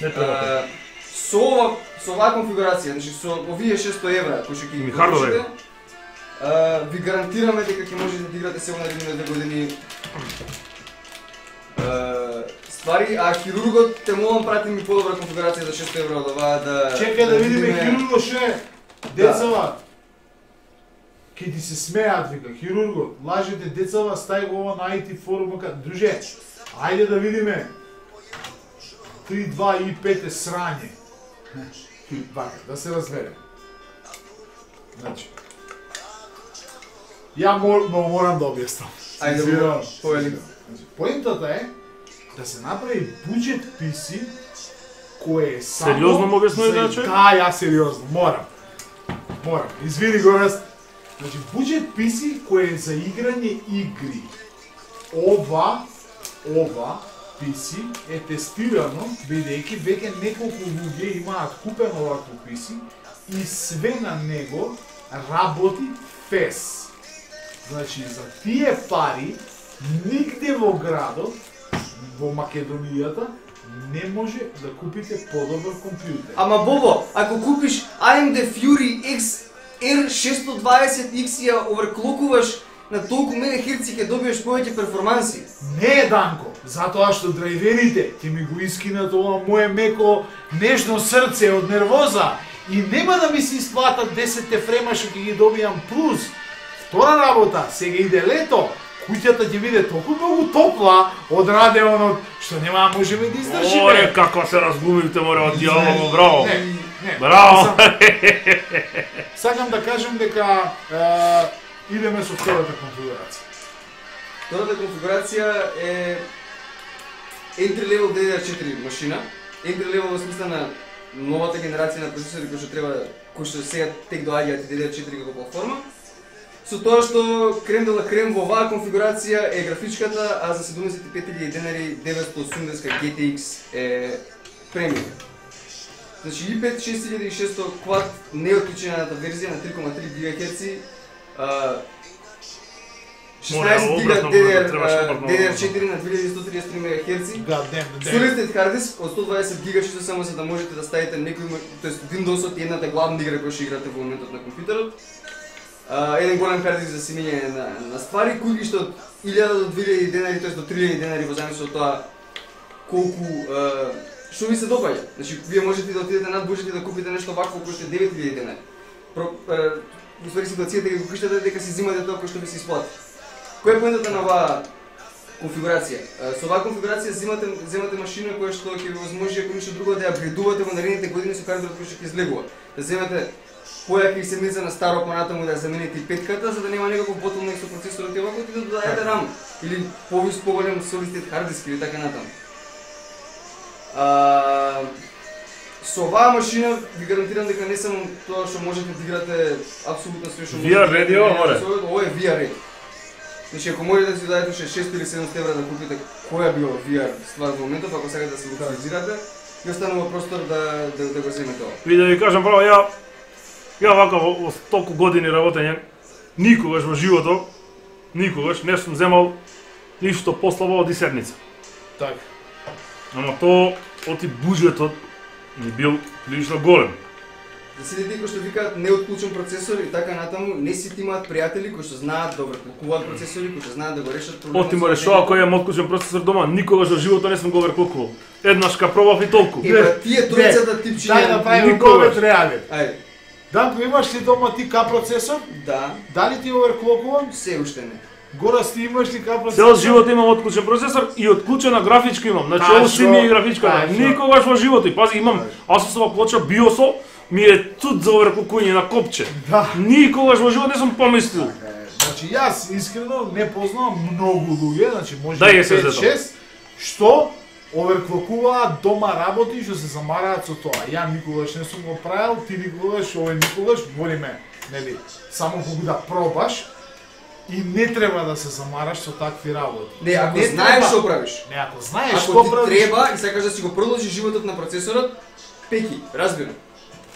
Со оваа конфигурација, значи со овие 600 евра кои што ќе ги получите, ви гарантираме дека ќе можете да играте се во наредните 2 години ствари, а хирургот те молам прати ми подобра конфигурација за 600 евра од оваа да... Чекај да видиме хирургот ше, децава. Ке ти се смеат, вика, хирургот, лажете децава, стај го ова на IT форумот, друже, ајде да видиме. 3.2 и 5 е срање. Вака, да се разбереме. Значи, ја морам да објаснам. Ајде, повели. Поентата е да се направи буџет PC кој е само... Сериозно му објаснува да човек? Да, ја сериозно, морам. Извини го раз. Значи, буџет PC кој е за играње игри. Ова PC е тестирано, бидејќи веќе неколку луѓе имаат купено овакво PC и све на него работи фес. Значи, за тие пари, нигде во градот, во Македонијата, не може да купите подобар компјутер. Ама Бобо, ако купиш AMD Fury X R620X и ја оверклокуваш на толку мегахерци ќе добиеш повеќе перформанси. Не, Данко, затоа што драйверите ќе ми го искинат ова мое меко нежно срце од нервоза и нема да ми се исплатат 10 фрема што ќе ги добијам плюс. Втора работа, сега иде лето, куќата ќе биде толку многу топла од радеонот што нема да можеме да издржиме. Море, како се разгумивте, море, од дјаволо, браво. Не. Браво. Сакам да кажем дека идеме со втората конфигурација. Втората конфигурација е entry level DDR4 машина. Entry level во смисла на новата генерација на процесори кои што сега тек доаѓаат DDR4 како платформа. со тоа што крем дела крем во оваа конфигурација е графичката, а за 75.000 денари 980 GTX е премиум. Значи i5 6600 Quad неотклучената верзија на 3,3 GHz, 16 гига DDR4 на 2133 MHz, solid hard disk од 120 гига, што само за да можете да ставите некој, тоест Windows-от и едната главна игра која ќе играте во моментот на компјутерот. Еден голем hard disk за симење на ствари, кои што од 1000 до 2000 денари, тоест до 3000 денари во зависност од тоа колку што ви се допаѓа. Значи вие можете да отидете над буџет и да купите нешто вакво кој што е 9000 денари. Уствари ситуацијата е кога криштате дека си зимате тоа кој што ви се исплати. Која е поентата на оваа конфигурација? Со оваа конфигурација земате машина која што ќе ви возможи ако ништо друго да ја апгрейдувате во наредните години со хардверот кој што ќе излегува. Да земете појака и седмица на старо понатаму да ја замените и петката, за да нема некаков ботлнек со процесорот и овако и да додадете RAM или поголем solid state hard disk или така натаму. Со оваа машина ви гарантирам дека не само тоа што можете да играте апсолутно све што VR ready ова е VR ready. Значи ако можете да си дадете 600 или 700 евра да купите која било VR ствар во моментот, ако сакате да се локализирате, ви останува простор да го земете ова. Ви да ви кажам право, ја вака во толку години работење, никогаш во животот, никогаш не сум земал ништо послабо од седница. Така. Ама тоа оти буџетот ни бил прилично голем. За сите тие кои што викаат неотклучен процесор и така натаму, не сите имаат пријатели кои што знаат да оверклокуваат процесори, кои што знаат да го решат проблемот. Оти ме решува кој е отклучен процесор дома, никогаш во животот не сум го оверклокувал. Еднаш ка пробав и толку. Тие тројцата типчиња. Дај направиме ковет реален. Ајде. Данко, имаш ли дома ти К процесор? Да. Дали ти оверклокувам? Се уште не. Горас, ти имаш ли К процесор? Цел живот имам отклучен процесор и отклучена графичка имам. Значи ово си ми е графичката. Никогаш во животот. И пази, имам Asusова плоча BIOS-о, ми е тут за оверклокување на копче. Да. Никогаш во живот не сум помислил. Значи јас искрено не познавам многу луѓе, значи може Да, 5-6 што оверклокуваат дома работи што се замараат со тоа. Ја никогаш не сум го правил, ти никогаш, овој никогаш, волиме, нели, само кога да пробаш и не треба да се замараш со такви работи. Не, ако знаеш што правиш. Не, ако знаеш што Ако ти правиш. треба и сакаш да си го продолжиш животот на процесорот, пеки, разбирам.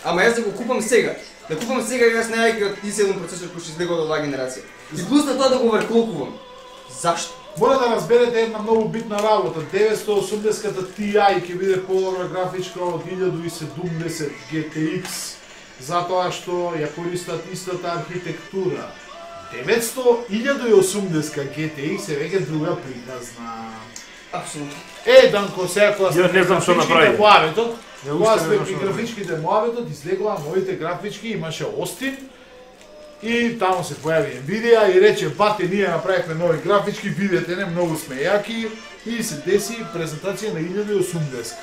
Ама јас да го купам сега. Да купам сега јас најајќи од i7 процесор кој ќе излегува од оваа генерација. И плюс на тоа да го оверклокувам. Зашто? Мора да разберете една многу битна работа. 980-ката Ti ќе биде подобра графичка од 1070 GTX, затоа што ја користат истата архитектура. 1080 GTX е веќе друга приказна. Апсолутно. Данко, сега кога Ја не знам што направи. Кога сме при графичките Moavetот, излегува новите графички, имаше Остин и таму се појави Nvidia и рече, бате, ние направивме нови графички, видете не, многу сме јаки и се деси презентација на 1080.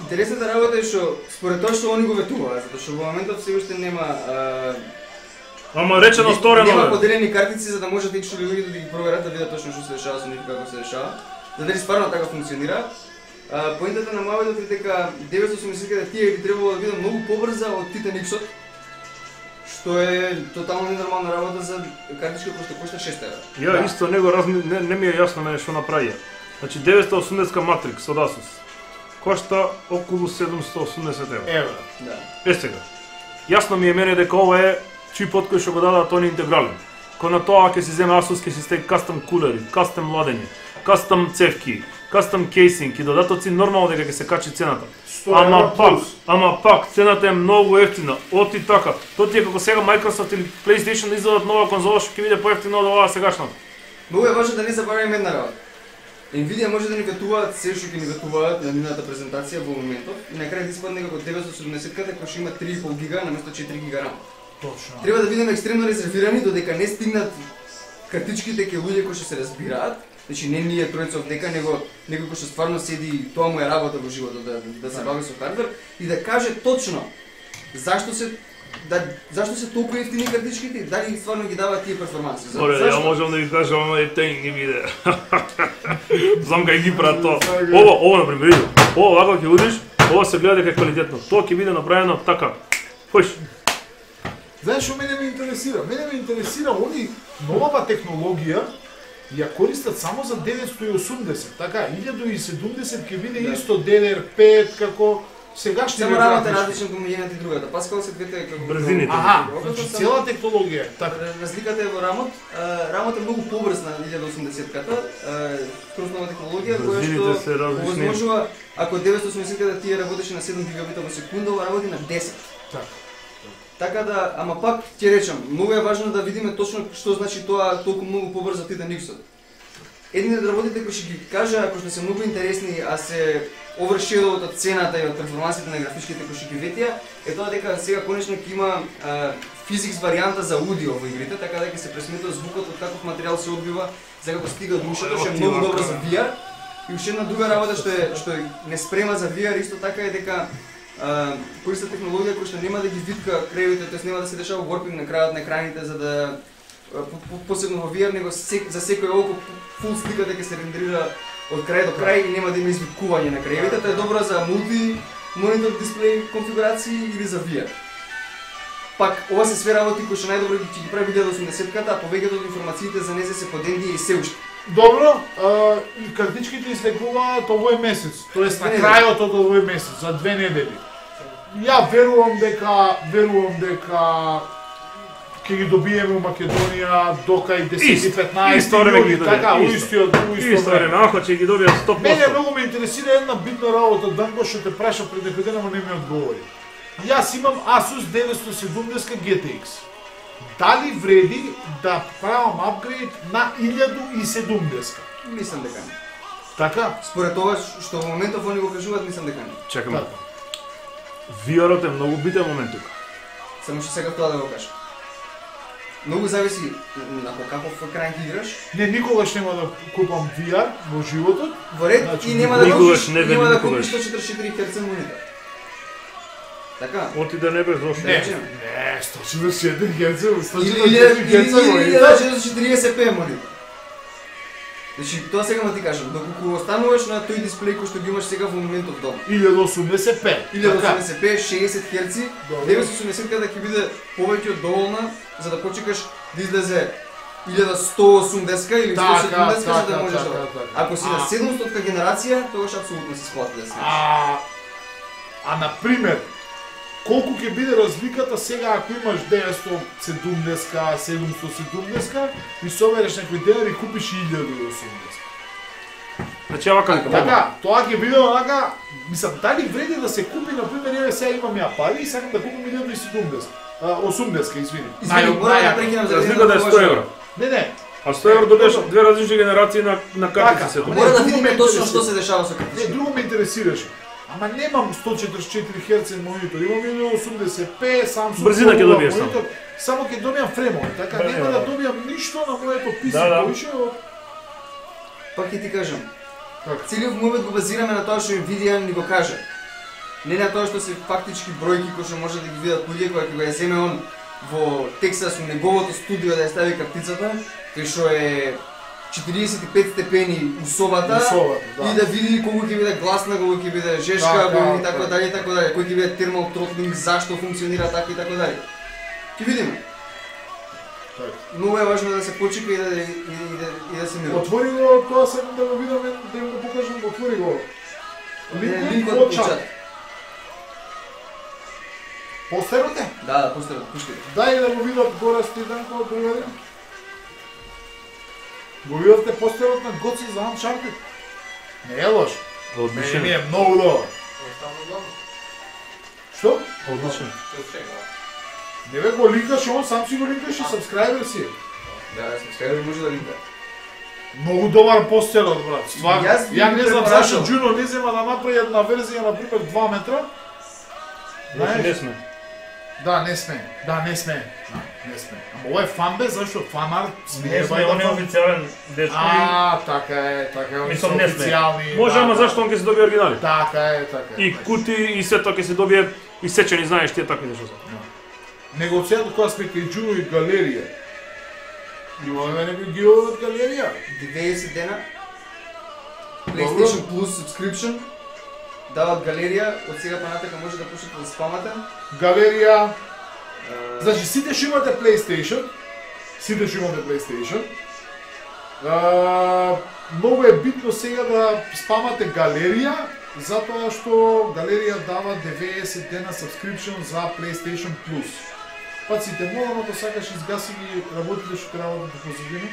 Интересната работа е што според тоа што они го ветуваат, затоа што во моментот се уште нема Ама речено сторено. Нема поделени картици за да можете што луѓето да ги проверат да видат точно што се дешава со нив како се дешава. За дали стварно така функционира. Поентата на Moavetот е дека 980 Ti би требало да биде многу побрза од Titan X-от, што е тотално ненормална работа за картичка која што кошта 6 евра. Ја исто не ми е јасно мене што направија. Значи 980 Matrix од Asus кошта околу 780 евра. Да. Сега. Јасно ми е мене дека ова е чипот кој што го дадат они интегрален. Кон на тоа ќе си земе Asus, ќе си стеги кастом кулери, кастом ладење, кастом цевки, кастом кейсинг и додатоци, нормално дека ќе се качи цената. Ама пак цената е многу ефтина. Оти така. Тоа ти е како сега Microsoft или PlayStation издадат нова конзола што ќе биде поевтина од оваа сегашната. Многу е важно да не забораваме една работа. Nvidia може да ни ветуваат се што ќе ни ветуваат на нивната презентација во моментот и на крај да испадне како 970-ката која што има 3,5 гига наместо 4 гига RAM. Точно. Треба да бидеме екстремно резервирани додека не стигнат картичките ке луѓе кои што се разбираат. Значи не ние тројца дека него некој кој што стварно седи и тоа му е работа во животот да се бави со хардвер и да каже точно зашто се толку ефтини картичките и дали стварно ги даваат тие перформанси. Ја можам да ви кажам, ама и теј не биде. Знам кај ги прават тоа. Ова например, ова вака ќе удиш, ова се гледа дека е квалитетно. Тоа ќе биде направено така. Хош. Знаеш што мене ме интересира? Мене ме интересира они новава технологија ја користат само за 980, така 1070 ќе биде исто DDR5 како сегашни. Само работа различно кон едната и другата. Паскал се двете како брзините. Аха, значи цела технологија. Така. Разликата е во рамот. Рамот е многу побрз на 1080-ката. Скроз нова технологија која што овозможува ако 980-ката тие работеше на 7 гигабита во секунда, ова работи на 10. Така да, ама пак ќе речам, многу е важно да видиме точно што значи тоа толку многу побрзо Titan X-от. Едните од работите кои ќе ги кажа, ако што се многу интересни, а се overshadowed од цената и од перформансите на графичките кои ќе ги ветија, е тоа дека сега конечно ќе има физикс варијанта за аудио во игрите, така дека се пресметува звукот од каков материјал се одбива, за како стига до ушето, што е многу добро за VR. И уште една друга работа што не спрема за VR исто така е дека користа технологија која што нема да ги витка крајовите, тоест нема да се дешава warping на крајот на екраните за да посебно во VR, него за секој око фул слика дека се рендерира од крај до крај и нема да има извикување на крајовите. Тоа е добро за мулти монитор дисплеј конфигурации или за VR. Пак ова се све работи кои што најдобро ќе ги прави 1080-ката, а повеќето од информациите за незе се подендија и се уште. Добро, и картичките излекуваат овој месец, тоест на крајот од овој месец, за 2 недели. Ја верувам дека ќе ги добиеме у Македонија до кај 10-15 јули, така, истиот време, ако ќе ги добијат 100%. Мене многу ме интересира една битна работа, Данко што те праша пред некој ден, ама не ми одговори. Јас имам Asus 970 GTX. Дали вреди да правам апгрейд на 1070? Мислам дека не. Така? Според тоа што во моментов они го кажуваат, мислам дека не. Чекаме. VR-от е многу битен момент тука. Само што сега тоа да го кажам. Многу зависи на каков екран ќе играш. Не, никогаш нема да купам VR во животот. Во ред Значи, и нема да никогаш купиш, не нема да никогаш. купиш 144 Hz монитор. Така. Оти да не бе зошто. Не, 144 Hz, Или 144 Hz монитор. 440p монитор. Значи, тоа сега ма ти кажам, доколку остануваш на тој дисплеј кој што ги имаш сега во моментов дома. 1080p. 1080p, 60 Hz, 980 ќе биде повеќе од доволна за да почекаш да излезе 1180 или 170 за да можеш да. Ако си на 700 генерација, тогаш апсолутно се сплати да се. А на пример, колку ќе биде разликата сега ако имаш 970, 770 и собереш некој денар и купиш 1080? Значи ава како? Така, тоа ќе биде онака, мислам, дали вреди да се купи, например, ја сега имам ја пари и сакам да купам 1070. 80, извини. Извини, мора да прекинам за разликата е 100 евро. Не. А 100 евро добиеш две различни генерации на картици се тоа. Мора да видиме точно што се дешава со картичките. Не, друго ме интересираше. Ама немам 144 Hz монитор, имам 1080p, Samsung брзина ќе добиеш монитор, само ќе добијам фремови, така нема да добијам ништо на моето PC повише од... Пак ќе ти кажам. Така. Целиот момент го базираме на тоа што Nvidia ни го кажа. Не на тоа што се фактички бројки кои што може да ги видат луѓе кога ќе го ја земе он во Тексас у неговото студио да ја стави картицата, кој што е 45 степени у собата, и да види колку ќе биде гласна, колку ќе биде жешка, и така дали, кој ќе биде термал тротлинг, зашто функционира така и така дали. Ќе видиме. Многу е важно да се почека и да се мира. Отвори го, тоа сакам да го видам, да им го покажам, отвори го. Линкот во чат. Постерот е? Да, постерот, пушките. Дај да го видат гора Стиданко, другаде. Го видовте постерот на Гоци за Uncharted? Не е лош. Одличен. Ми е многу добар. Што? Одличен. Не бе го линкаш, он сам си го линкаш и сабскрайбер си. Да, сабскрайбер може да линка. Многу добар постерот, брат. Стварно. Ја не знам препарашал. зашто Джуно не зема да направи една верзија, например 2 метра. Не сме. Да, не сме. Не сме. Ама ова е фанбе, зашто фанарт Не сме, он е официјален дечко. така е, Мислам, не сме. официјални. Може, ама зашто он ќе се добие оригинали? Така е. И кути, и сето ќе се добие исечени, знаеш тие такви нешто. Него од сега кога сме кај Джуно и галерија. Имаме некој гио од галерија? 90 дена. PlayStation Plus subscription. Дават галерија, од сега па натака може да почнете да спамате. Галерија. Значи сите што имате PlayStation, многу е битно сега да спамате галерија, затоа што галерија дава 90 дена subscription за PlayStation Plus. Паците, молам ако сакаш изгаси ги работите што треба да позадиме.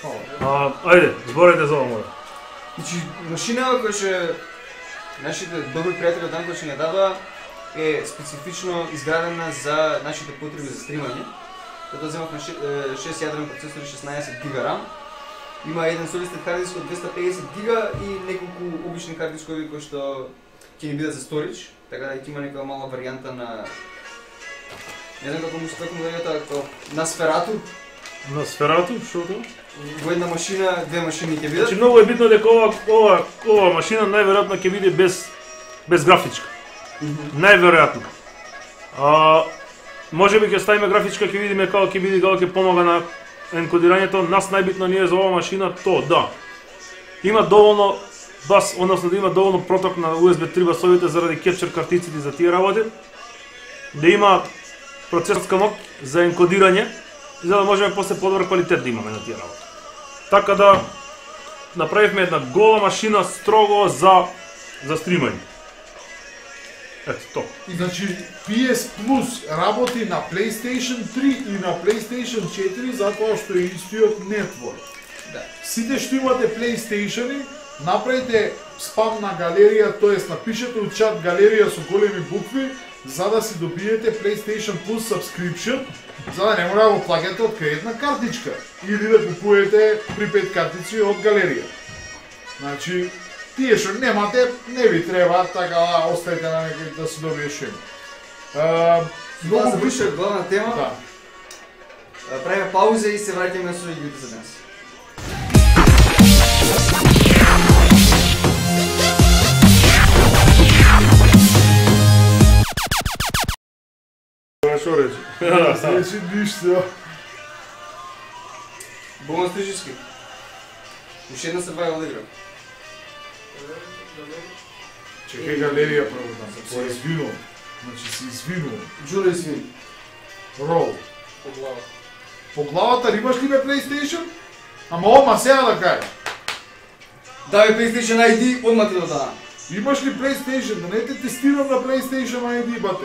Фала. Ајде, зборете за ова. Значи, машина која што нашите добри пријатели од Данко што ја дадоа е специфично изградена за нашите потреби за стримање. Тоа земавме 6 јадрен процесор и 16 гига RAM. Има еден солистен хард диск од 250 гига и неколку обични хард дискови кои што ќе ни бидат за storage, така да ќе има нека мала варијанта на не знам како му да тоа на сферату. На сферату, што тоа? Во една машина, две машини ќе бидат. Значи многу е битно дека ова машина најверојатно ќе биде без графичка. Најверојатно. Можеби ќе ставиме графичка, ќе видиме како ќе биде, како ќе помага на енкодирањето. Нас најбитно ни е за оваа машина тоа, да. Има доволно бас, односно да има доволно проток на USB 3 басовите заради кепчер картиците за тие работи. Да има процесорска моќ за енкодирање, за да можеме после подобар квалитет да имаме на тие работи. Така да направивме една гола машина строго за стримање. Ето тоа. И значи PS Plus работи на PlayStation 3 и на PlayStation 4 затоа што е истиот нетворк. Да. Сите што имате PlayStation-и, направите спам на галерија, тоест напишете у чат галерија со големи букви, за да си добиете PlayStation Plus subscription, за да не мора да го плаќате од кредитна картичка или да купувате припет картици од галерија. Значи, тие што немате, не ви треба, така да оставите на некој да се добие што има. Многу више од главна тема. Да. Правиме пауза и се враќаме на игрите за днес. Што рече? Значи ништо. Бонус трижиски. Уште една survival игра. Чекај галерија прво да се извинувам. Значи се извинувам. Джулио извини. Рол. По глава. По главата имаш ли бе PlayStation? Ама ома сега да кажеш. Давај PlayStation ID, одма ти да дадам. Имаш ли PlayStation? Да не те тестирам на PlayStation ID, бате.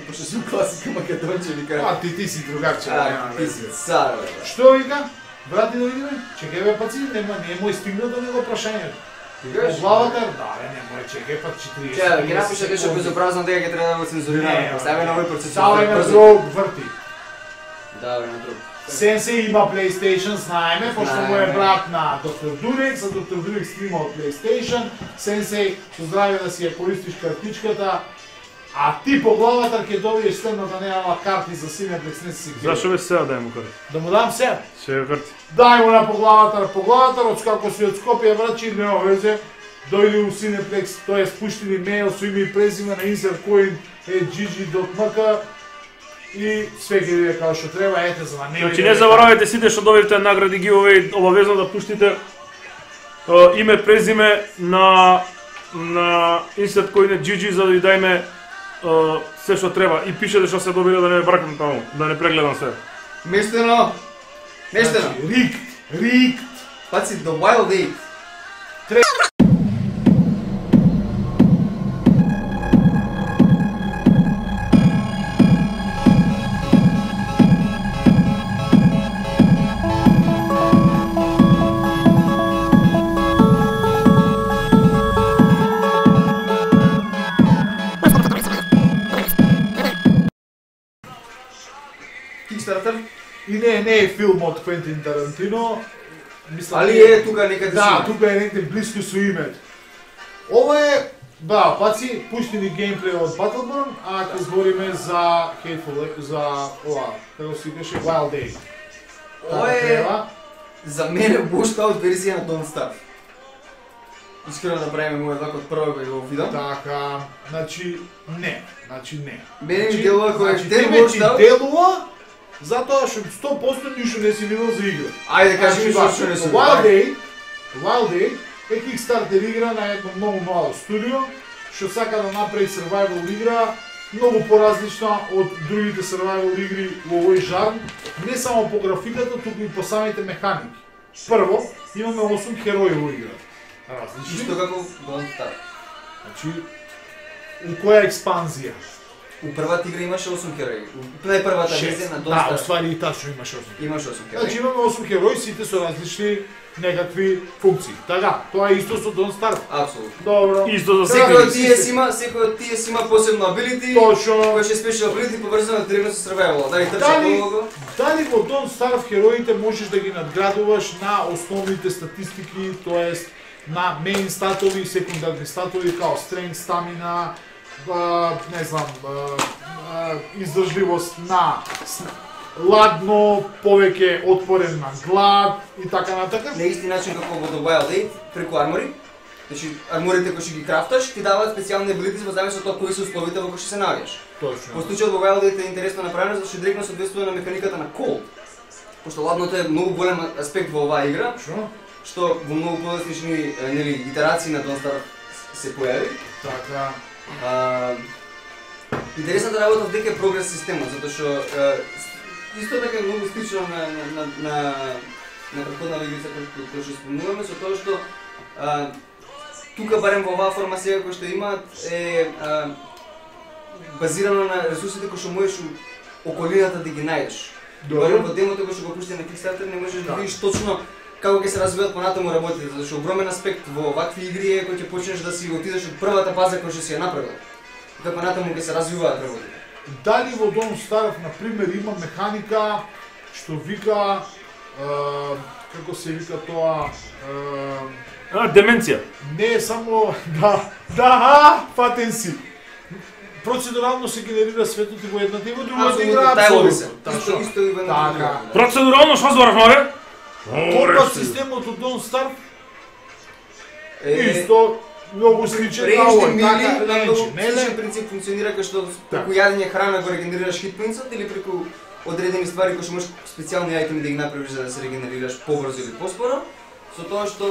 Пошто сум класика македонче, ви кажа. Ти си другарче. Ти си цар, бе. Што вика? Брати да видиме? Чекај бе паци, не мој стигнато него прашањето. По главата? Да, не чекај пат 40. Чекај, ќе напиша нешто безобразно дека ќе треба да го цензурираме. Стави на овој процес. Стави на друг, врти. Да, бе, на друг. Сенсеј има PlayStation, знаеме, пошто му е брат на Доктор Дурекс, а Доктор Дурекс снима од PlayStation. Сенсеј, со здравје да си ја користиш картичката, а ти по главата ќе добиеш следната неама карти за Cineplex, не си ги. Зашо бе сега дај му карти? Да му дам сега? Сега карти. Дај му на по главата, од како си од Скопје врачи, нема везе. Дојди у Cineplex, тој спушти ни мејл со име и презиме на insertcoin@gg.mk и све ќе биде како што треба, ете за да не. Значи не заборавајте сите што добивте награди giveaway, обавезно да пуштите име, презиме на insertcoin@gg за да ви дајме се што треба и пишете што се добиле да не бракам таму, да не прегледам се. Мештено. Мештено. Рикт. Паци, The Wild 8. Kickstarter? И не е филм од Квентин Тарантино. Мислам, Али е тука некаде. Да, тука е некаде близко со името. Ова е, да, паци, пушти ни геймплей од Battleborn, а ќе збориме за Hateful, за ова, како се викаше, Wild Day. Ова е за мене washed-out верзија на Don't Starve. Искрено да правиме мој од прво кога го видам. Така, значи не. Мене ми делува кој е тебе washed-out. Делува затоа што 100% ништо не си видел за игра. Ајде кажи ми што не сум. Wild Day е Kickstarter игра на едно многу мало студио, што сака да направи survival игра многу поразлична од другите survival игри во овој жанр, не само по графиката, туку и по самите механики. Прво, имаме 8 херои во играта. Различни. Исто како Don't Starve. Значи, у која експанзија? У првата игра имаше 8 херои. У најпрвата верзија на Don't Да, Starve оствари и тачно имаше 8. имаше 8 херои. Значи имаме 8 херои, сите со различни некакви функции. Така, тоа е исто со Don't Starve. Апсолутно. Добро. Исто за Секој од секој. тие си има посебно ability, Точно. кој ще спешил ability поврзано да тргне со survival. Дали трча Дали- долго? Дали во Don't Starve хероите можеш да ги надградуваш на основните статистики, тоест на main статови и секундарни статови као strength, stamina, не знам, издржливост на ладно, повеќе отпорен на глад и така натака. На исти начин како во The Wild Eight, преку армори. Значи, арморите кои ќе ги крафташ, ти даваат специјални abilities во зависност од тоа кои се условите во кои ќе се наоѓаш. По Точно. случајот во Wild Eight е интересно направено зашто директно соодветствува на механиката на Cold. Пошто ладното е многу голем аспект во оваа игра, Точно. што во многу подоцнични нели итерации на Don't Starve се појави. Така. Интересната работа дека е прогрес системот, затоа што исто така е многу слично на претходна игрица која што спомнуваме, со тоа што тука барем во оваа форма сега која што имаат е базирано на ресурсите кои што можеш околината да ги најдеш. Барем во демото кој што го пушти на Kickstarter не можеш да видиш точно како ќе се развиваат понатаму работите, зашто огромен аспект во вакви игри е кој ќе почнеш да си отидеш од првата база која што си ја направил. Како понатаму ќе се развиваат работите. Дали во Don't Starve, например, има механика што вика, како се вика тоа, Деменција. не е само, фатен си. Процедурално се генерира светот и во едната и во другата игра, Апсолутно. Исто и во едната Така. игра. Процедурално што зборавме? Компас системот од Don't Starve Е, исто многу сличен на Режни овој, мили така, на многу неле? сличен принцип функционира кај што преку јадење храна го регенерираш хит поинтсот или преку одредени ствари кои што можеш специјални ајтеми да ги направиш за да се регенерираш побрзо или поспоро. Со тоа што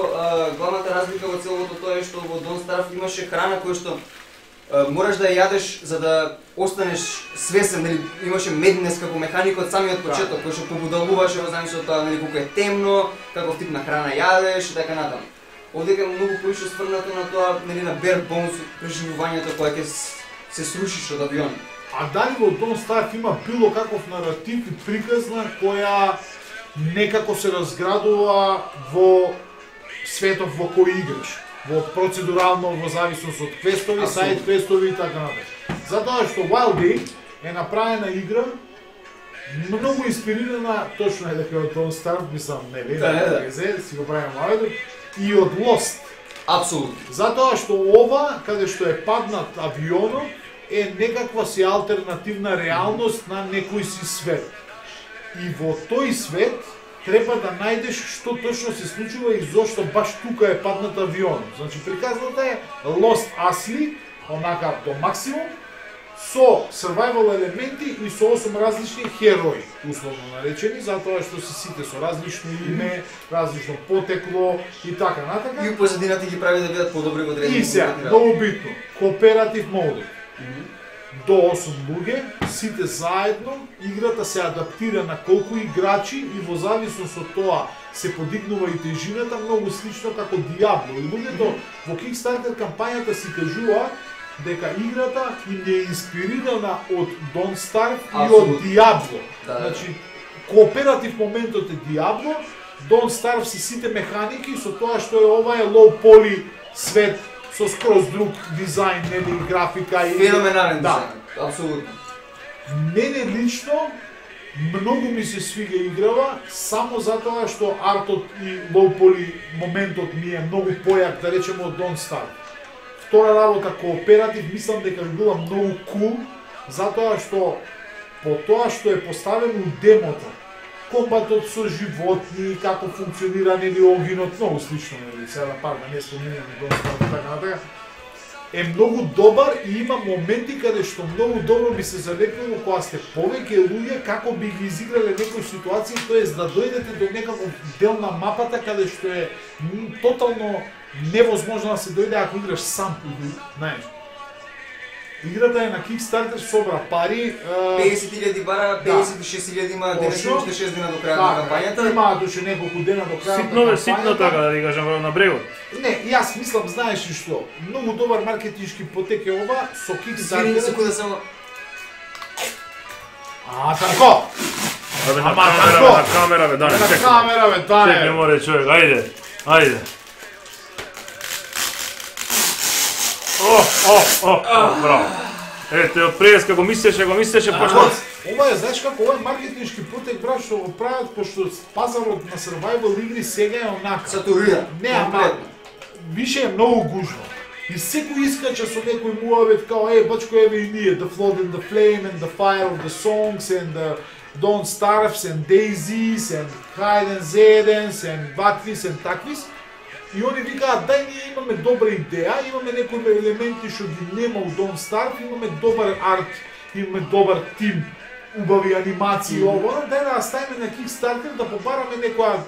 главната разлика во целото тоа е што во Don't Starve имаше храна која што мораш да ја јадеш за да останеш свесен, нели имаше меднес како механика од самиот почеток, кој што побудалуваше во зависност од тоа нели колку е темно, каков тип на храна јадеш и така натаму. Овдека е многу поише сврнато на тоа, нели на bare bones преживувањето кое ќе се срушиш од авион. А дали во Don't Starve има било каков наратив и приказна која некако се разградува во светот во кој играш? Во процедурално, во зависност од квестови, сайд квестови и така натаму. Затоа што Wild Eight е направена игра многу инспирирана, точно е дека од Don't Starve, мислам, нели, Да. си го правиме Wild и од Lost. Апсолутно. Затоа што ова, каде што е паднат авионот, е некаква си алтернативна реалност на некој си свет. И во тој свет треба да најдеш што точно се случува и зошто баш тука е паднат авионот. Значи приказната е Lost Asli, онака до максимум, со survival елементи и со 8 различни херои, условно наречени, затоа што се сите со различно име, различно потекло и така натака. И позадината ги прави да бидат подобри во одредени И сега, конкретни многу битно, кооператив модот. До 8 луѓе, сите заедно, играта се адаптира на колку играчи и во зависност од тоа се подигнува и тежината, многу слично како Diablo. И луѓето во Kickstarter кампањата си кажуваат дека играта им е инспирирана од Don't Starve и од Апсолутно. Diablo. Да. Значи, кооператив моментот е Diablo, Don't Starve се сите механики, со тоа што е ова е low poly свет со скроз друг дизајн, нели, графика и Феноменален да. дизајн. Апсолутно. Мене лично многу ми се свига играва само затоа што артот и low poly моментот ми е многу појак, да речеме, од Don't Starve. Втора работа, кооператив, мислам дека би била многу кул, затоа што по тоа што е поставено у демото, комбатот со животни, како функционира, нели, огинот, многу слично, нели, сега пак да не споминам Don't Starve и така натака, е многу добар и има моменти каде што многу добро би се залекнало кога сте повеќе луѓе како би ги изиграле некои ситуации, тоест да дојдете до некаков дел на мапата каде што е тотално невозможно да се дојде ако играш сам, знаеш. Играта е на Kickstarter, собра пари. 50.000 бара, 56.000 има денес уште 6 дена до крај на кампањата. Има душе неколку дена до крај на кампањата. Ситно така да ви кажам на брегот. Не, јас мислам, знаеш ли што? Многу добар маркетиншки потек е ова со Kickstarter. Извини секунда само. Тако. Абе на камера бе, Дане. На камера бе, Дане. Чекај море човек, ајде. Браво. Ете, прес како мислеше, почна. Ова е, знаеш како, ова е маркетиншки потек, брат, што го прават, пошто пазарот на survival игри сега е онака. Сатурира. Не, ама, више е многу гужно. И секој искача со некој муавет као, бачко еве и ние, The Flood and the Flame and the Fire of the Songs and the Don't Starves and Daisies and Hide and Zedens and Batvis and таквис. И они викаат, дај ние имаме добра идеја, имаме некои елементи што ги нема у Don't Starve, имаме добар арт, имаме добар тим, убави анимации, ова, дај да ставиме на Kickstarter да побараме некоја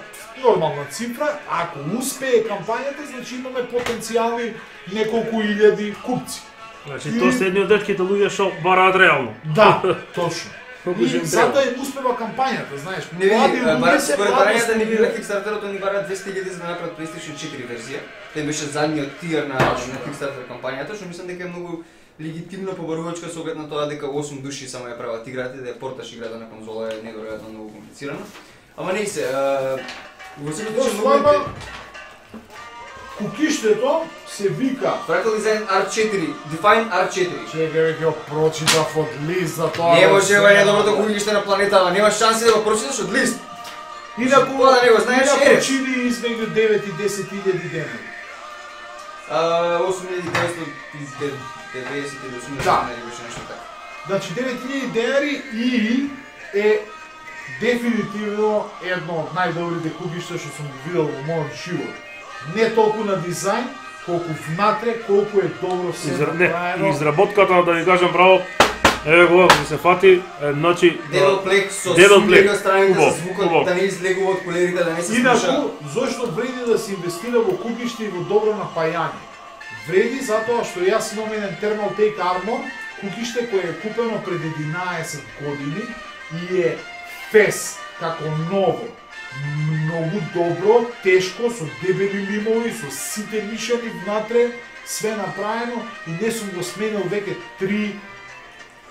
нормална цифра, ако успее кампањата, значи имаме потенцијални неколку илјади купци. Значи тоа се едни од детките луѓе што бараат реално. Да, точно. И затоа им успева кампањата, знаеш. Не види, според барањата ни види на Kickstarter-ото ни бараат 200.000 за да направат PlayStation 4 верзија. Тој беше задниот тир на Kickstarter кампањата, што мислам дека е многу легитимно побарувачка со оглед на тоа дека 8 души само ја прават играта, да ја порташ играта на конзола е неверојатно многу комплицирано. Ама не се, во се многу кукиштето се вика Fractal Design R4, Define R4. Чекај веќе го прочитав од лист за тоа. Не може ова е доброто кукиште на планетава, нема шанси да го прочиташ од лист. Инаку тоа да не го знаеш, чини измеѓу 9 и 10.000 денари. 8.990 или 80 денари беше нешто така. Значи 9.000 денари и е дефинитивно едно од најдобрите кукишта што сум ги видел во мојот живот. Не толку на дизајн, колку внатре, колку е добро се направено. Изработката, да ви кажам право, еве го, ми се фати, значи... Девелплек со сумлега страните за звукот, да не излегува од колерите, да не се слуша. Инаку, зошто вреди да се инвестира во кукиште и во добро напајање? Вреди затоа што јас имам еден Thermal Take Armor, кукиште кој е купено пред 11 години и е фес, како ново. Многу добро, тешко, со дебели лимови, со сите мишани внатре, све направено и не сум го сменил веќе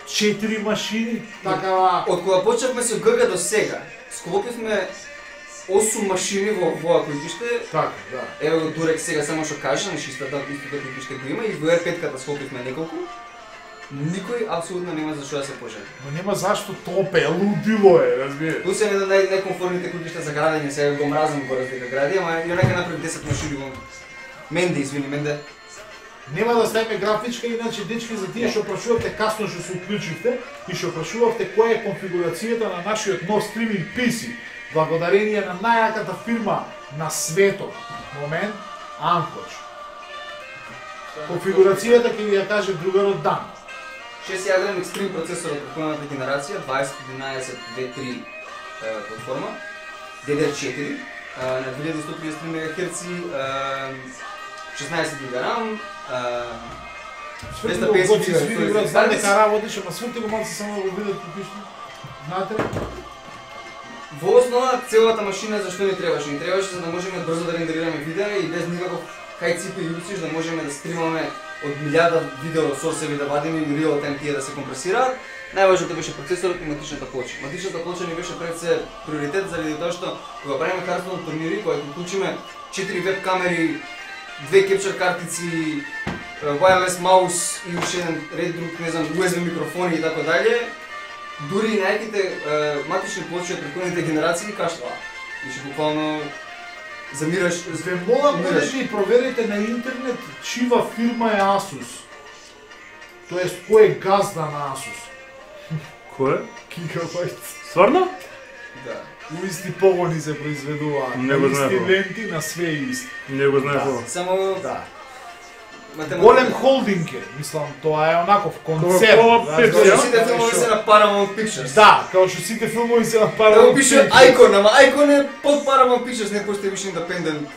3-4 машини, така... Од кога почнавме со ГГ до сега, склопивме 8 машини во овоја кукиште. Така, да. Ево го Дурек сега само што кажа, на истото кукиште го има и во R5-ката склопивме неколку. Никој апсолутно нема за што да се пожали. Но нема зашто топе, лудило е, разбираш. Ту се еден од најкомфортните кукишта за градење, сега го мразам го дека гради, ама и онака направи 10 машини во Менде, извини, Менде. Нема да ставиме графичка, иначе дечки за тие што прашувавте касно што се уклучивте и што прашувавте која е конфигурацијата на нашиот нов стриминг PC, благодарение на најаката фирма на светот, момент, Ankoch. Конфигурацијата ќе ви ја каже другарот Дан. 6-јадрен Extreme процесор од претходната генерација, 2011 V3 платформа, DDR4 на 2133 МHz, 16 GB RAM, 250 GB Знам дека работиш, ама сврти го малце само да го видат купиште. Знаете ли? Во основа целата машина зашто ни требаше? Ни требаше за да можеме брзо да рендерираме видеа и без никаков хајципи и юциш да можеме да стримаме од 1000 видео сорсеви да вадиме и real time тие да се компресираат. Најважното беше процесорот и матичната плоча. Матичната плоча ни беше пред се приоритет заради тоа што кога правиме Hearthstone турнири, кога ќе вклучиме 4 веб камери, 2 capture картици, wireless маус и уште еден ред друг, не знам, USB микрофони и така дале, дури и најаките матични плочи од претходните генерации кашлаа. И што буквално замираш. Ве молам да и проверите на интернет чива фирма е Asus. Тоест кој е газда на Asus. Кој? Gigabyte. Стварно? Да. У исти погони се произведуваат. Не го знаев. Исти ленти на све исти. Не го знаев ова. Само Да. Голем холдинг е, мислам, тоа е онаков концерт. Као сите филмови се на Paramount Pictures. Да, као што сите филмови се на Да Paramount го пише Pictures. Icon, ама Icon е под Paramount Pictures, не постои више индепендент.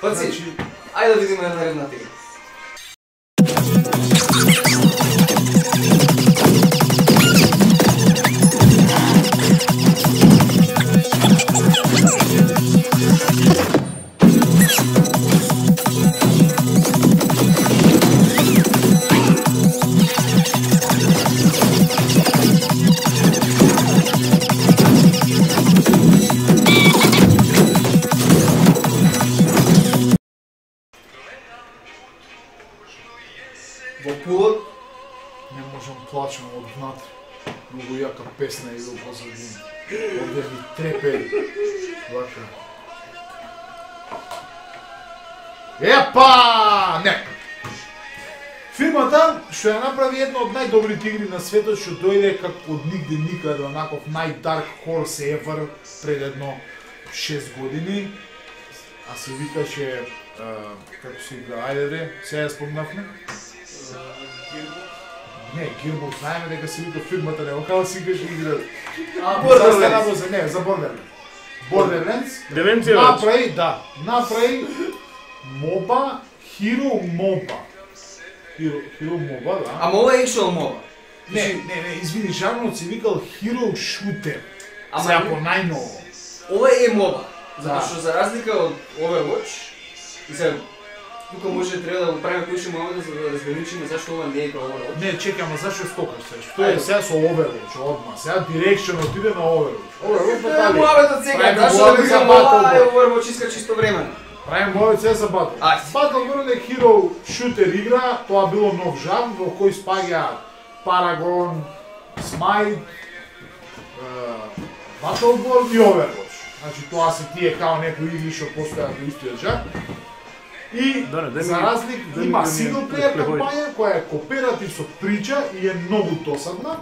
Паци, ајде да видиме една наредната игра. Не можам плачам од внатре. Многу јака песна и во позадина. Овде ми трепери. Вака. Епа! Не! Фирмата што ја направи една од најдобрите игри на светот, што дојде как од нигде никаде, онаков најдарк хорse ever пред едно 6 години. А се викаше, како се игра, ајде де, сега ја спомнавме. Не, Gearbox, знаеме дека се вика фирмата, не, окала си играш игра. Borderlands. Не, за Borderlands. Borderlands. Деменција Направи MOBA, Hero MOBA. Hero MOBA, да. Ама ова е actual MOBA. Не, извини, жанрот се викал Hero Shooter. Ама Сега по најново. Ова е MOBA. Затоа Да. што за разлика од Overwatch, и сега тука може треба да го правиме поише момента за да разграничиме зашто ова не е како Overwatch. Не, чекам, а зашто стокаш се? Што е сега со Overwatch одма? Сега дирекшн отиде на Overwatch. Overwatch Е, дали? муабетот сега, Правиме зашто муабет да за видам Battle ова е World. Overwatch иска чисто времено. Правим муабет сега за Battle. Ајде. Battle World е Hero Shooter игра, тоа било нов жанр во кој спаѓа Paragon, Smite, Battle World и Overwatch. Значи тоа се тие као некои игри што постојат во истиот жанр. И Да, не, дај ми- за разлик дај ми има да ми синглплеер преходи. кампања која е кооператив со прича и е многу досадна.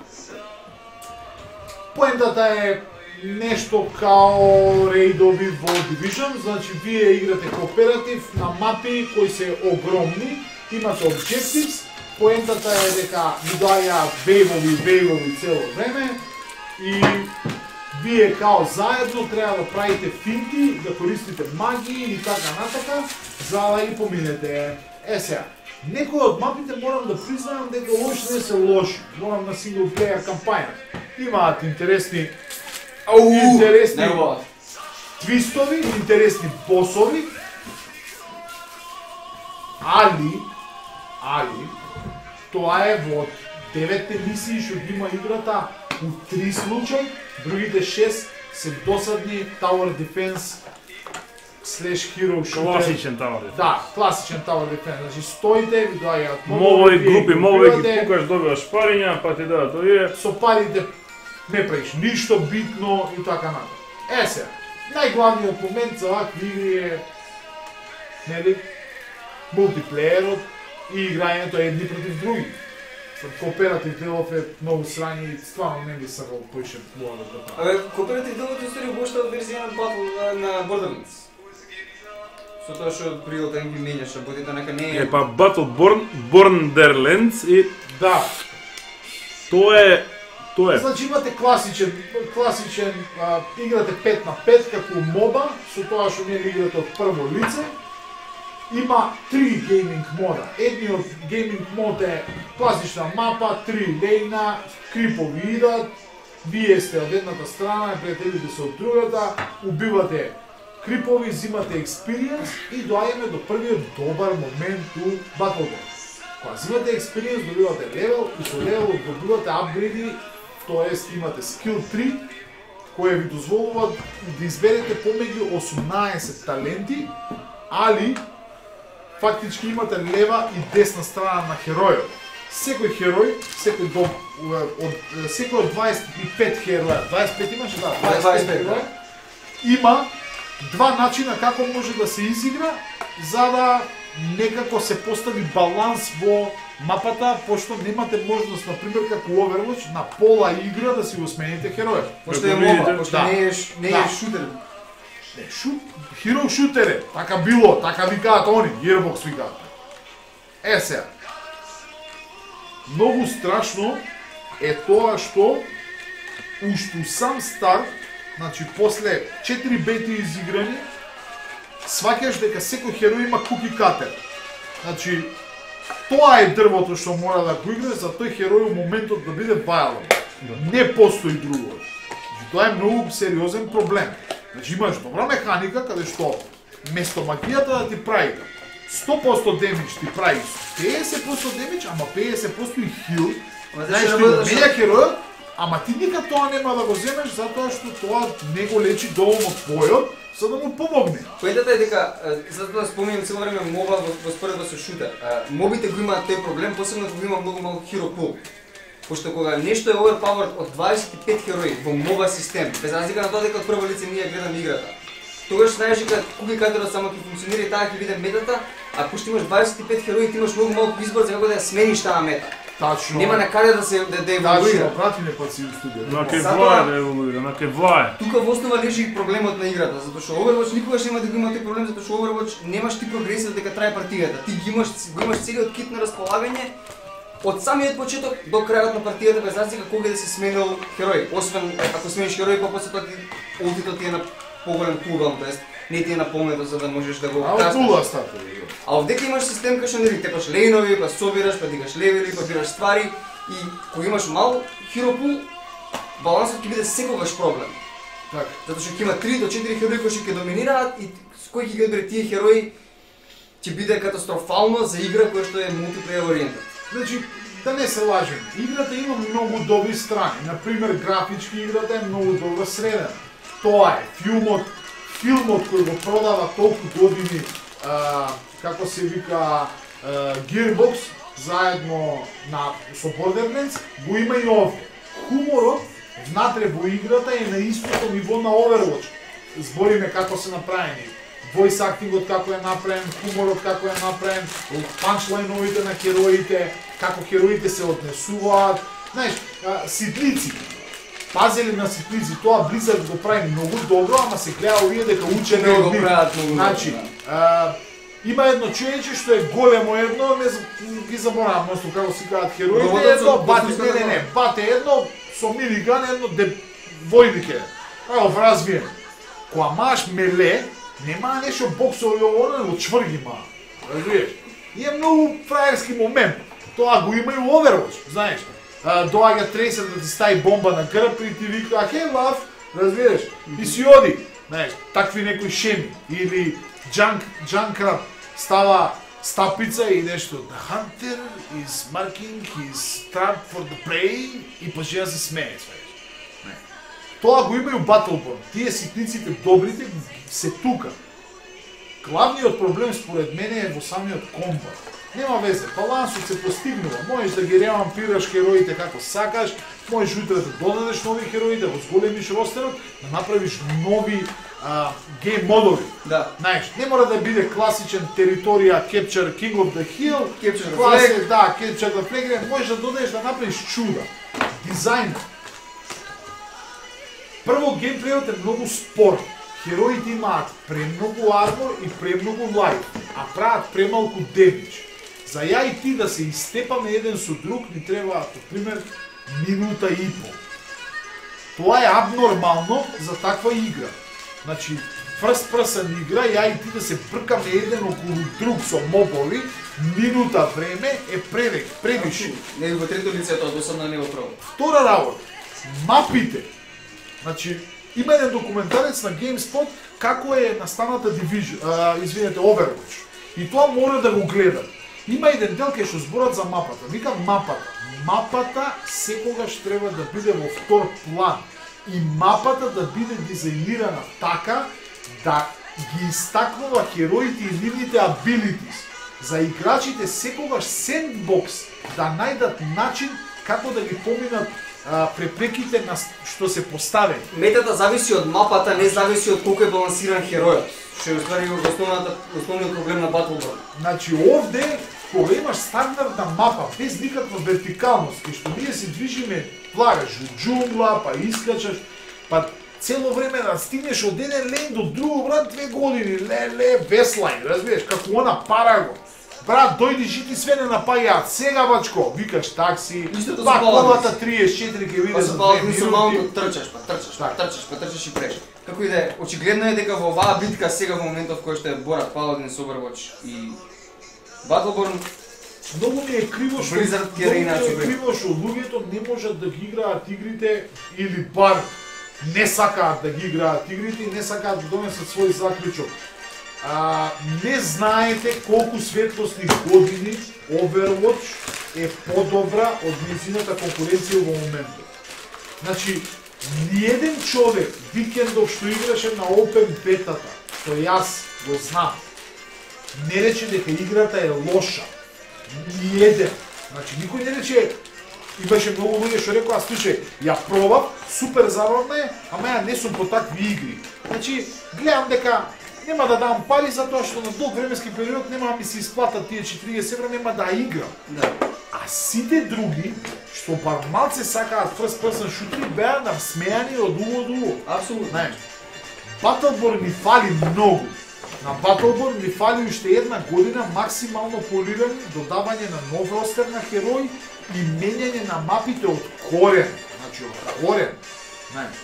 Поентата е нешто као рейдови во Division, значи вие играте кооператив на мапи кои се огромни, имате objectives, поентата е дека ви доаѓаат вејвови цело време и вие као заедно треба да правите финти, да користите магии и така натака, за да ги поминете. Сега, некои од мапите морам да признаам дека уопште не се лоши. Морам на синглплеер кампања. Имаат интересни Не ова. твистови, интересни босови, али, тоа е во 9 мисии што ги има играта у 3 случаи, другите 6 се досадни Tower Defense / Hero Shooter. Класичен тавар. Да, класичен Tower Defense. Значи стоите, ви доаѓаат Мовови вие групи, мовови ги убивате. пукаш, добиваш париња, па ти дадат овие. Со парите не правиш ништо битно и така натаму. Сега, најглавниот момент за вакви игри е, нели, мултиплеерот и играњето едни против други. Кооператив делов е многу срањи и стварно не би сакал поише мога да правам. Абе, кооператив делот историја воопшто од верзија на Battle на Borderlands. Со тоа што при Real Time ги менјаш работите, нека не е... Е па Borderlands и Да, тоа е значи имате класичен играте 5 на 5 како моба, со тоа што не играте од прво лице. Има 3 гейминг мода. Едниот гейминг мод е класична мапа, 3 лејна, крипови идат, вие сте од едната страна, пријателите се од другата, убивате крипови, взимате експириенс и доаѓаме до првиот добар момент у Battle World. Кога взимате експириенс, добивате левел и со левел добивате апгрейди, тоест имате скил 3, кои ви дозволуваат да изберете помеѓу 18 таленти, али фактички имате лева и десна страна на херојот. Секој херој, секој од 25 хероја, 25 имаше, да, 25 хероја, има два начина како може да се изигра, за да некако се постави баланс во мапата, пошто немате можност, например, како Overwatch, на пола игра да си го смените хероја. Пошто е моба, пошто Да. не е Да. шутер. Не, Hero Shooter е, така било, така викаат они, Gearbox викаат. Сега. Многу страшно е тоа што уште у сам старт, значи после 4 бети изиграни, сваќаш дека секој херој има куки катер. Значи, тоа е дрвото што мора да го играш за тој херој у моментот да биде вајален. Не постои друго. Значи, тоа е многу сериозен проблем. Значи имаш добра механика каде што место магијата да ти прави 100% демидж ти прави 50% демидж, ама 50% и хил. Знаеш, ти го менја херојот Ама ти никад тоа нема да го земеш затоа што тоа не го лечи доволно твојот, за да му помогне. Поентата е дека, затоа да спомнем цело време моба во споредба со шутер. Мобите го имаат тој проблем, посебно кога има многу малку hero pool. Пошто кога нешто е overpowered од 25 херои во моба систем, без разлика на тоа дека од прво лице ние гледаме играта, тогаш знаеш дека кога кадрот само ќе функционира и таа ќе биде метата, а пошто имаш 25 херои, ти имаш многу малку избор за како да ја смениш таа мета. Тачно. Нема на каде да се еволуира. Тачно, прати не паци у студиото. На кевлае да еволуира, на кевлае. Тука во основа лежи и проблемот на играта, затоа што Overwatch никогаш нема да го има тој проблем, затоа што Overwatch немаш ти прогресија дека трае партијата. Ти го имаш целиот кит на располагање од самиот почеток до крајот на партијата без разлика кога да се сменил херој. Освен ако смениш херој, попосле тоа ултито ти е на поголем кулдаун, тоест не ти е наполнето за да можеш да го касташ. А овдека имаш систем кај што нели тепаш лейнови, па собираш, па дигаш левели, па бираш ствари и кога имаш мал hero pool, балансот ќе биде секогаш проблем. Така. Затоа што ќе има 3 до 4 херои кои ќе доминираат и кој ќе ги одбере тие херои ќе биде катастрофално за игра која што е мултиплеер ориентирана. Значи, да не се лажем, играта има многу добри страни. Например, графички играта е многу добро средена. Тоа е филмот кој го продава толку години, како се вика, Gearbox, заедно со Borderlands, го има и овде. Хуморот внатре во играта е на истото ниво на Overwatch. Збориме како се направени. Voice actingот како е направен, хуморот како е направен, панчлайновите на хероите, како хероите се однесуваат. Знаеш, ситлици. Пазели на ситлици, тоа Blizzard го прави многу добро, ама се гледа овие дека учене од нив. Значи, има едно човече што е големо едно, ги заборавам носто како се кажат хероите, едно бате, не, бате едно со милиган, едно војнике. Ао, развиен. Кога маш меле, нема нешто боксови ово, го чврги ма. Разбираш? И е многу фраерски момент. Тоа го има и у Overwatch, знаеш. Доаѓа тресер да ти стави бомба на грб и ти вика "Хей, лав", разбираш? И си оди. Знаеш, такви некои шеми или Junkrat става стапица и нешто "The hunter is marking his trap for the prey" и почнува да се смее, знаеш. Тоа го има и у Battleborn. Тие ситниците добрите се тука. Главниот проблем според мене е во самиот комбат. Нема везе, балансот се постигнува. Можеш да ги ревампираш хероите како сакаш, можеш утре да додадеш нови херои, да го зголемиш ростерот, да направиш нови гейм модови. Да. Знаеш, не мора да биде класичен територија Capture King of the Hill, Capture the Flag. Да, Capture the Flag, можеш да додадеш да направиш чуда. Дизајнот. Прво, геймплејот е многу спор. Хероите имаат премногу армор и премногу лайф, а прават премалку демидж. За ја и ти да се истепаме еден со друг ни треба, например, минута и пол. Тоа е абнормално за таква игра. Значи, first person игра, ја и ти да се бркаме еден околу друг со мобови, минута време е превише. Не во трето лице тоа досадно не го прво. Втора работа, мапите. Значи, има еден документарец на GameSpot како е настаната Overwatch. И тоа мора да го гледат. Има еден дел кај што зборат за мапата. Викам мапата. Мапата секогаш треба да биде во втор план. И мапата да биде дизајнирана така да ги истакнува хероите и нивните abilities. За играчите секогаш сендбокс да најдат начин како да ги поминат препреките на што се поставени. Метата зависи од мапата, не зависи од колку е балансиран херојот. Што е уствари основниот проблем на Battleborn. Значи овде, кога имаш стандардна мапа, без никаква вертикалност, кај што ние се движиме, плагаш у џунгла, па искачаш, па цело време да стигнеш од еден лейн до друго, брат, 2 години, веслайн, разбираш, како она Параго. Брат, дојди жити све не напаѓаат, сега бачко, викаш такси, па колата 34 ќе види за 2 минути. Трчаш и преш. Како и да е, очигледно е дека во оваа битка сега во моментов кој што е борат Paladin со Overwatch и Battleborn, многу ми е криво што луѓето не можат да ги играат игрите или бар не сакаат да ги играат игрите и не сакаат да донесат свој заклучок. Не знаете колку светлосни години Overwatch е подобра од нејзината конкуренција во моментот. Значи, ниеден човек викендов што играше на Open Beta-та, што јас го знам, не рече дека играта е лоша. Ниеден. Значи, никој не рече, имаше многу луѓе што рекоа, слушај, ја пробав, супер забавна е, ама ја не сум по такви игри. Значи, гледам дека нема да дам пари затоа што на долг временски период нема да ми се исплатат тие 40 евра, нема да играм. Да. А сите други, што бар малце сакаат first person шутери, беа насмејани од уво до уво. Апсолутно. Знаеш, Battleborn ни фали многу. На Battleborn ни фали уште една година максимално полирани, додавање на нов ростер на херои и менјање на мапите од корен. Значи, од корен. Знаеш,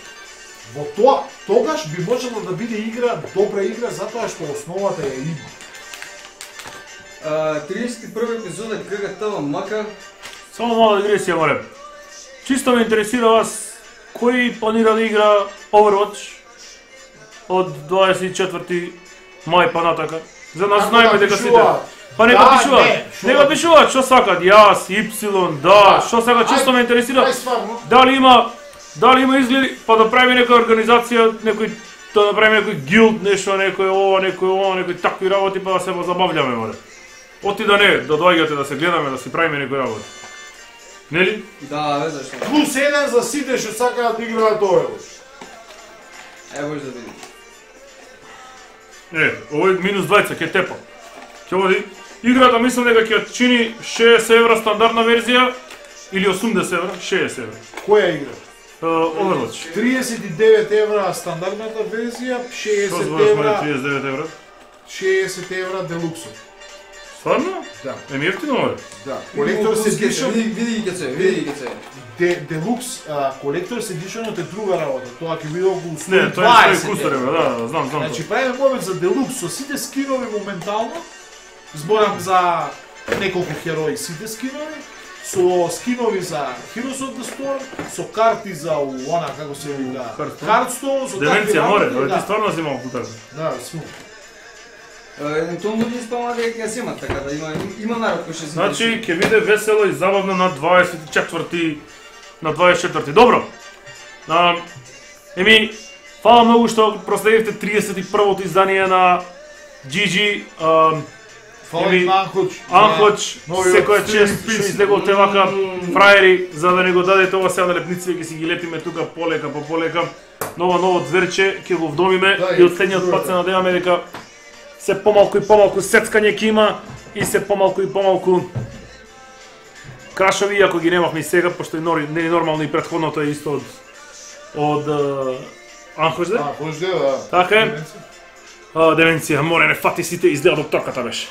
во тоа, тогаш би можело да биде игра, добра игра, затоа што основата ја има. 31 епизода ГГТ мака. Само мала дигресија, море. Чисто ме интересира вас, кој планира да игра Overwatch од 24 мај па натака? За нас знаеме дека сите. Па нека пишуваат. Нека пишуваат што сакат, јас, Y, да, што сакат, чисто ме интересира. Дали има изгледи, па да прави некоја организација, некој да направи некој гилд, нешто, некој такви работи, па да се забавljаме, море. Оти да не, да доаѓате да се гледаме, да си правиме некој работи. Нели? Да, бе, зашто? Плюс 1 за сите што сакаат да играат Overwatch. Може да видим. Овој минус 20 ќе тепа. Ќе води. Играта мислам дека ќе чини 60 евра стандардна верзија или 80 евра, 60 евра. Која игра? Overwatch. 39 евра стандардната верзија, 60 евра. 39 евра. 60 евра делуксот. Стварно? Да. Еми ефтино, море. Да. Collector's Edition. Види ќе се. Делукс Collector's Editionот е друга работа. Тоа ќе биде околу 120. Не, тоа е кустар, да, знам. Значи правиме момент за Делукс со сите скинови моментално. Зборам за неколку херои сите скинови. Со скинови за Heroes of the Storm, со карти за она како се вика Hearthstone, со Деменција, море, ти стварно си имал путар. Да, сум. Евентуално луѓе спомнаа дека ќе се имат, така да има народ кој ќе се. Значи ќе биде весело и забавно на 24. Добро. Еми, фала многу што проследивте 31-то издание на GG. Фала и Анхоч, секоја чест што излеговте вака фраери, за да не го дадете ова сега на лепниците, ќе си ги лепиме тука полека по полека. Ново дверче, ќе го вдомиме и од следниот пат се надеваме дека се помалку и помалку сецкање ќе има и се помалку и помалку крашови, иако ги немавме и сега, пошто не е нормално и претходното е исто од Анхоч, да? Анхоч, да. Така е. Деменција, море, не фати сите, изгледа докторката беше.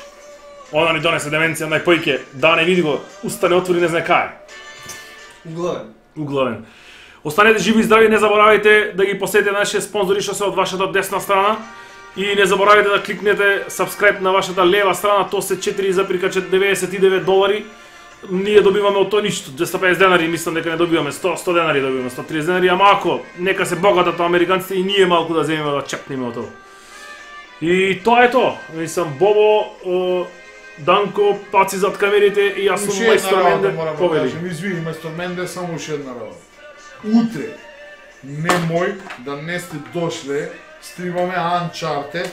Она ни донесе деменција, најпојке, да не види го, уста не отвори, не знае кај. Углавен. Останете живи и здрави, не заборавајте да ги посетите нашите спонзори што се од вашата десна страна и не заборавајте да кликнете subscribe на вашата лева страна, то се $4,99. Ние добиваме од тоа ништо, 250 денари, мислам дека не добиваме, 100 денари добиваме, 130 денари, ама ако нека се богатат американците и ние малку да земеме да чепнеме од тоа. И тоа е тоа. Мислам, Бобо, Данко, паци зад камерите и јас сум мајстор Менде. Повели. Извини, мајстор Менде, само уште една работа. Утре, немој да не сте дошле, стримаме Uncharted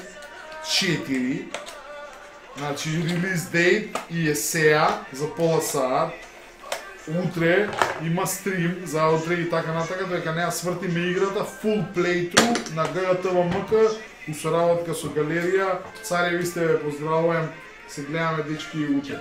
4. Значи, release date и е сеа за пола саат. Утре има стрим за утре и така натака, дека не ја свртиме играта, full playthrough на ГГТВМК, у соработка со галерија. Цареви сте, поздравувам, се гледаме дечки утре.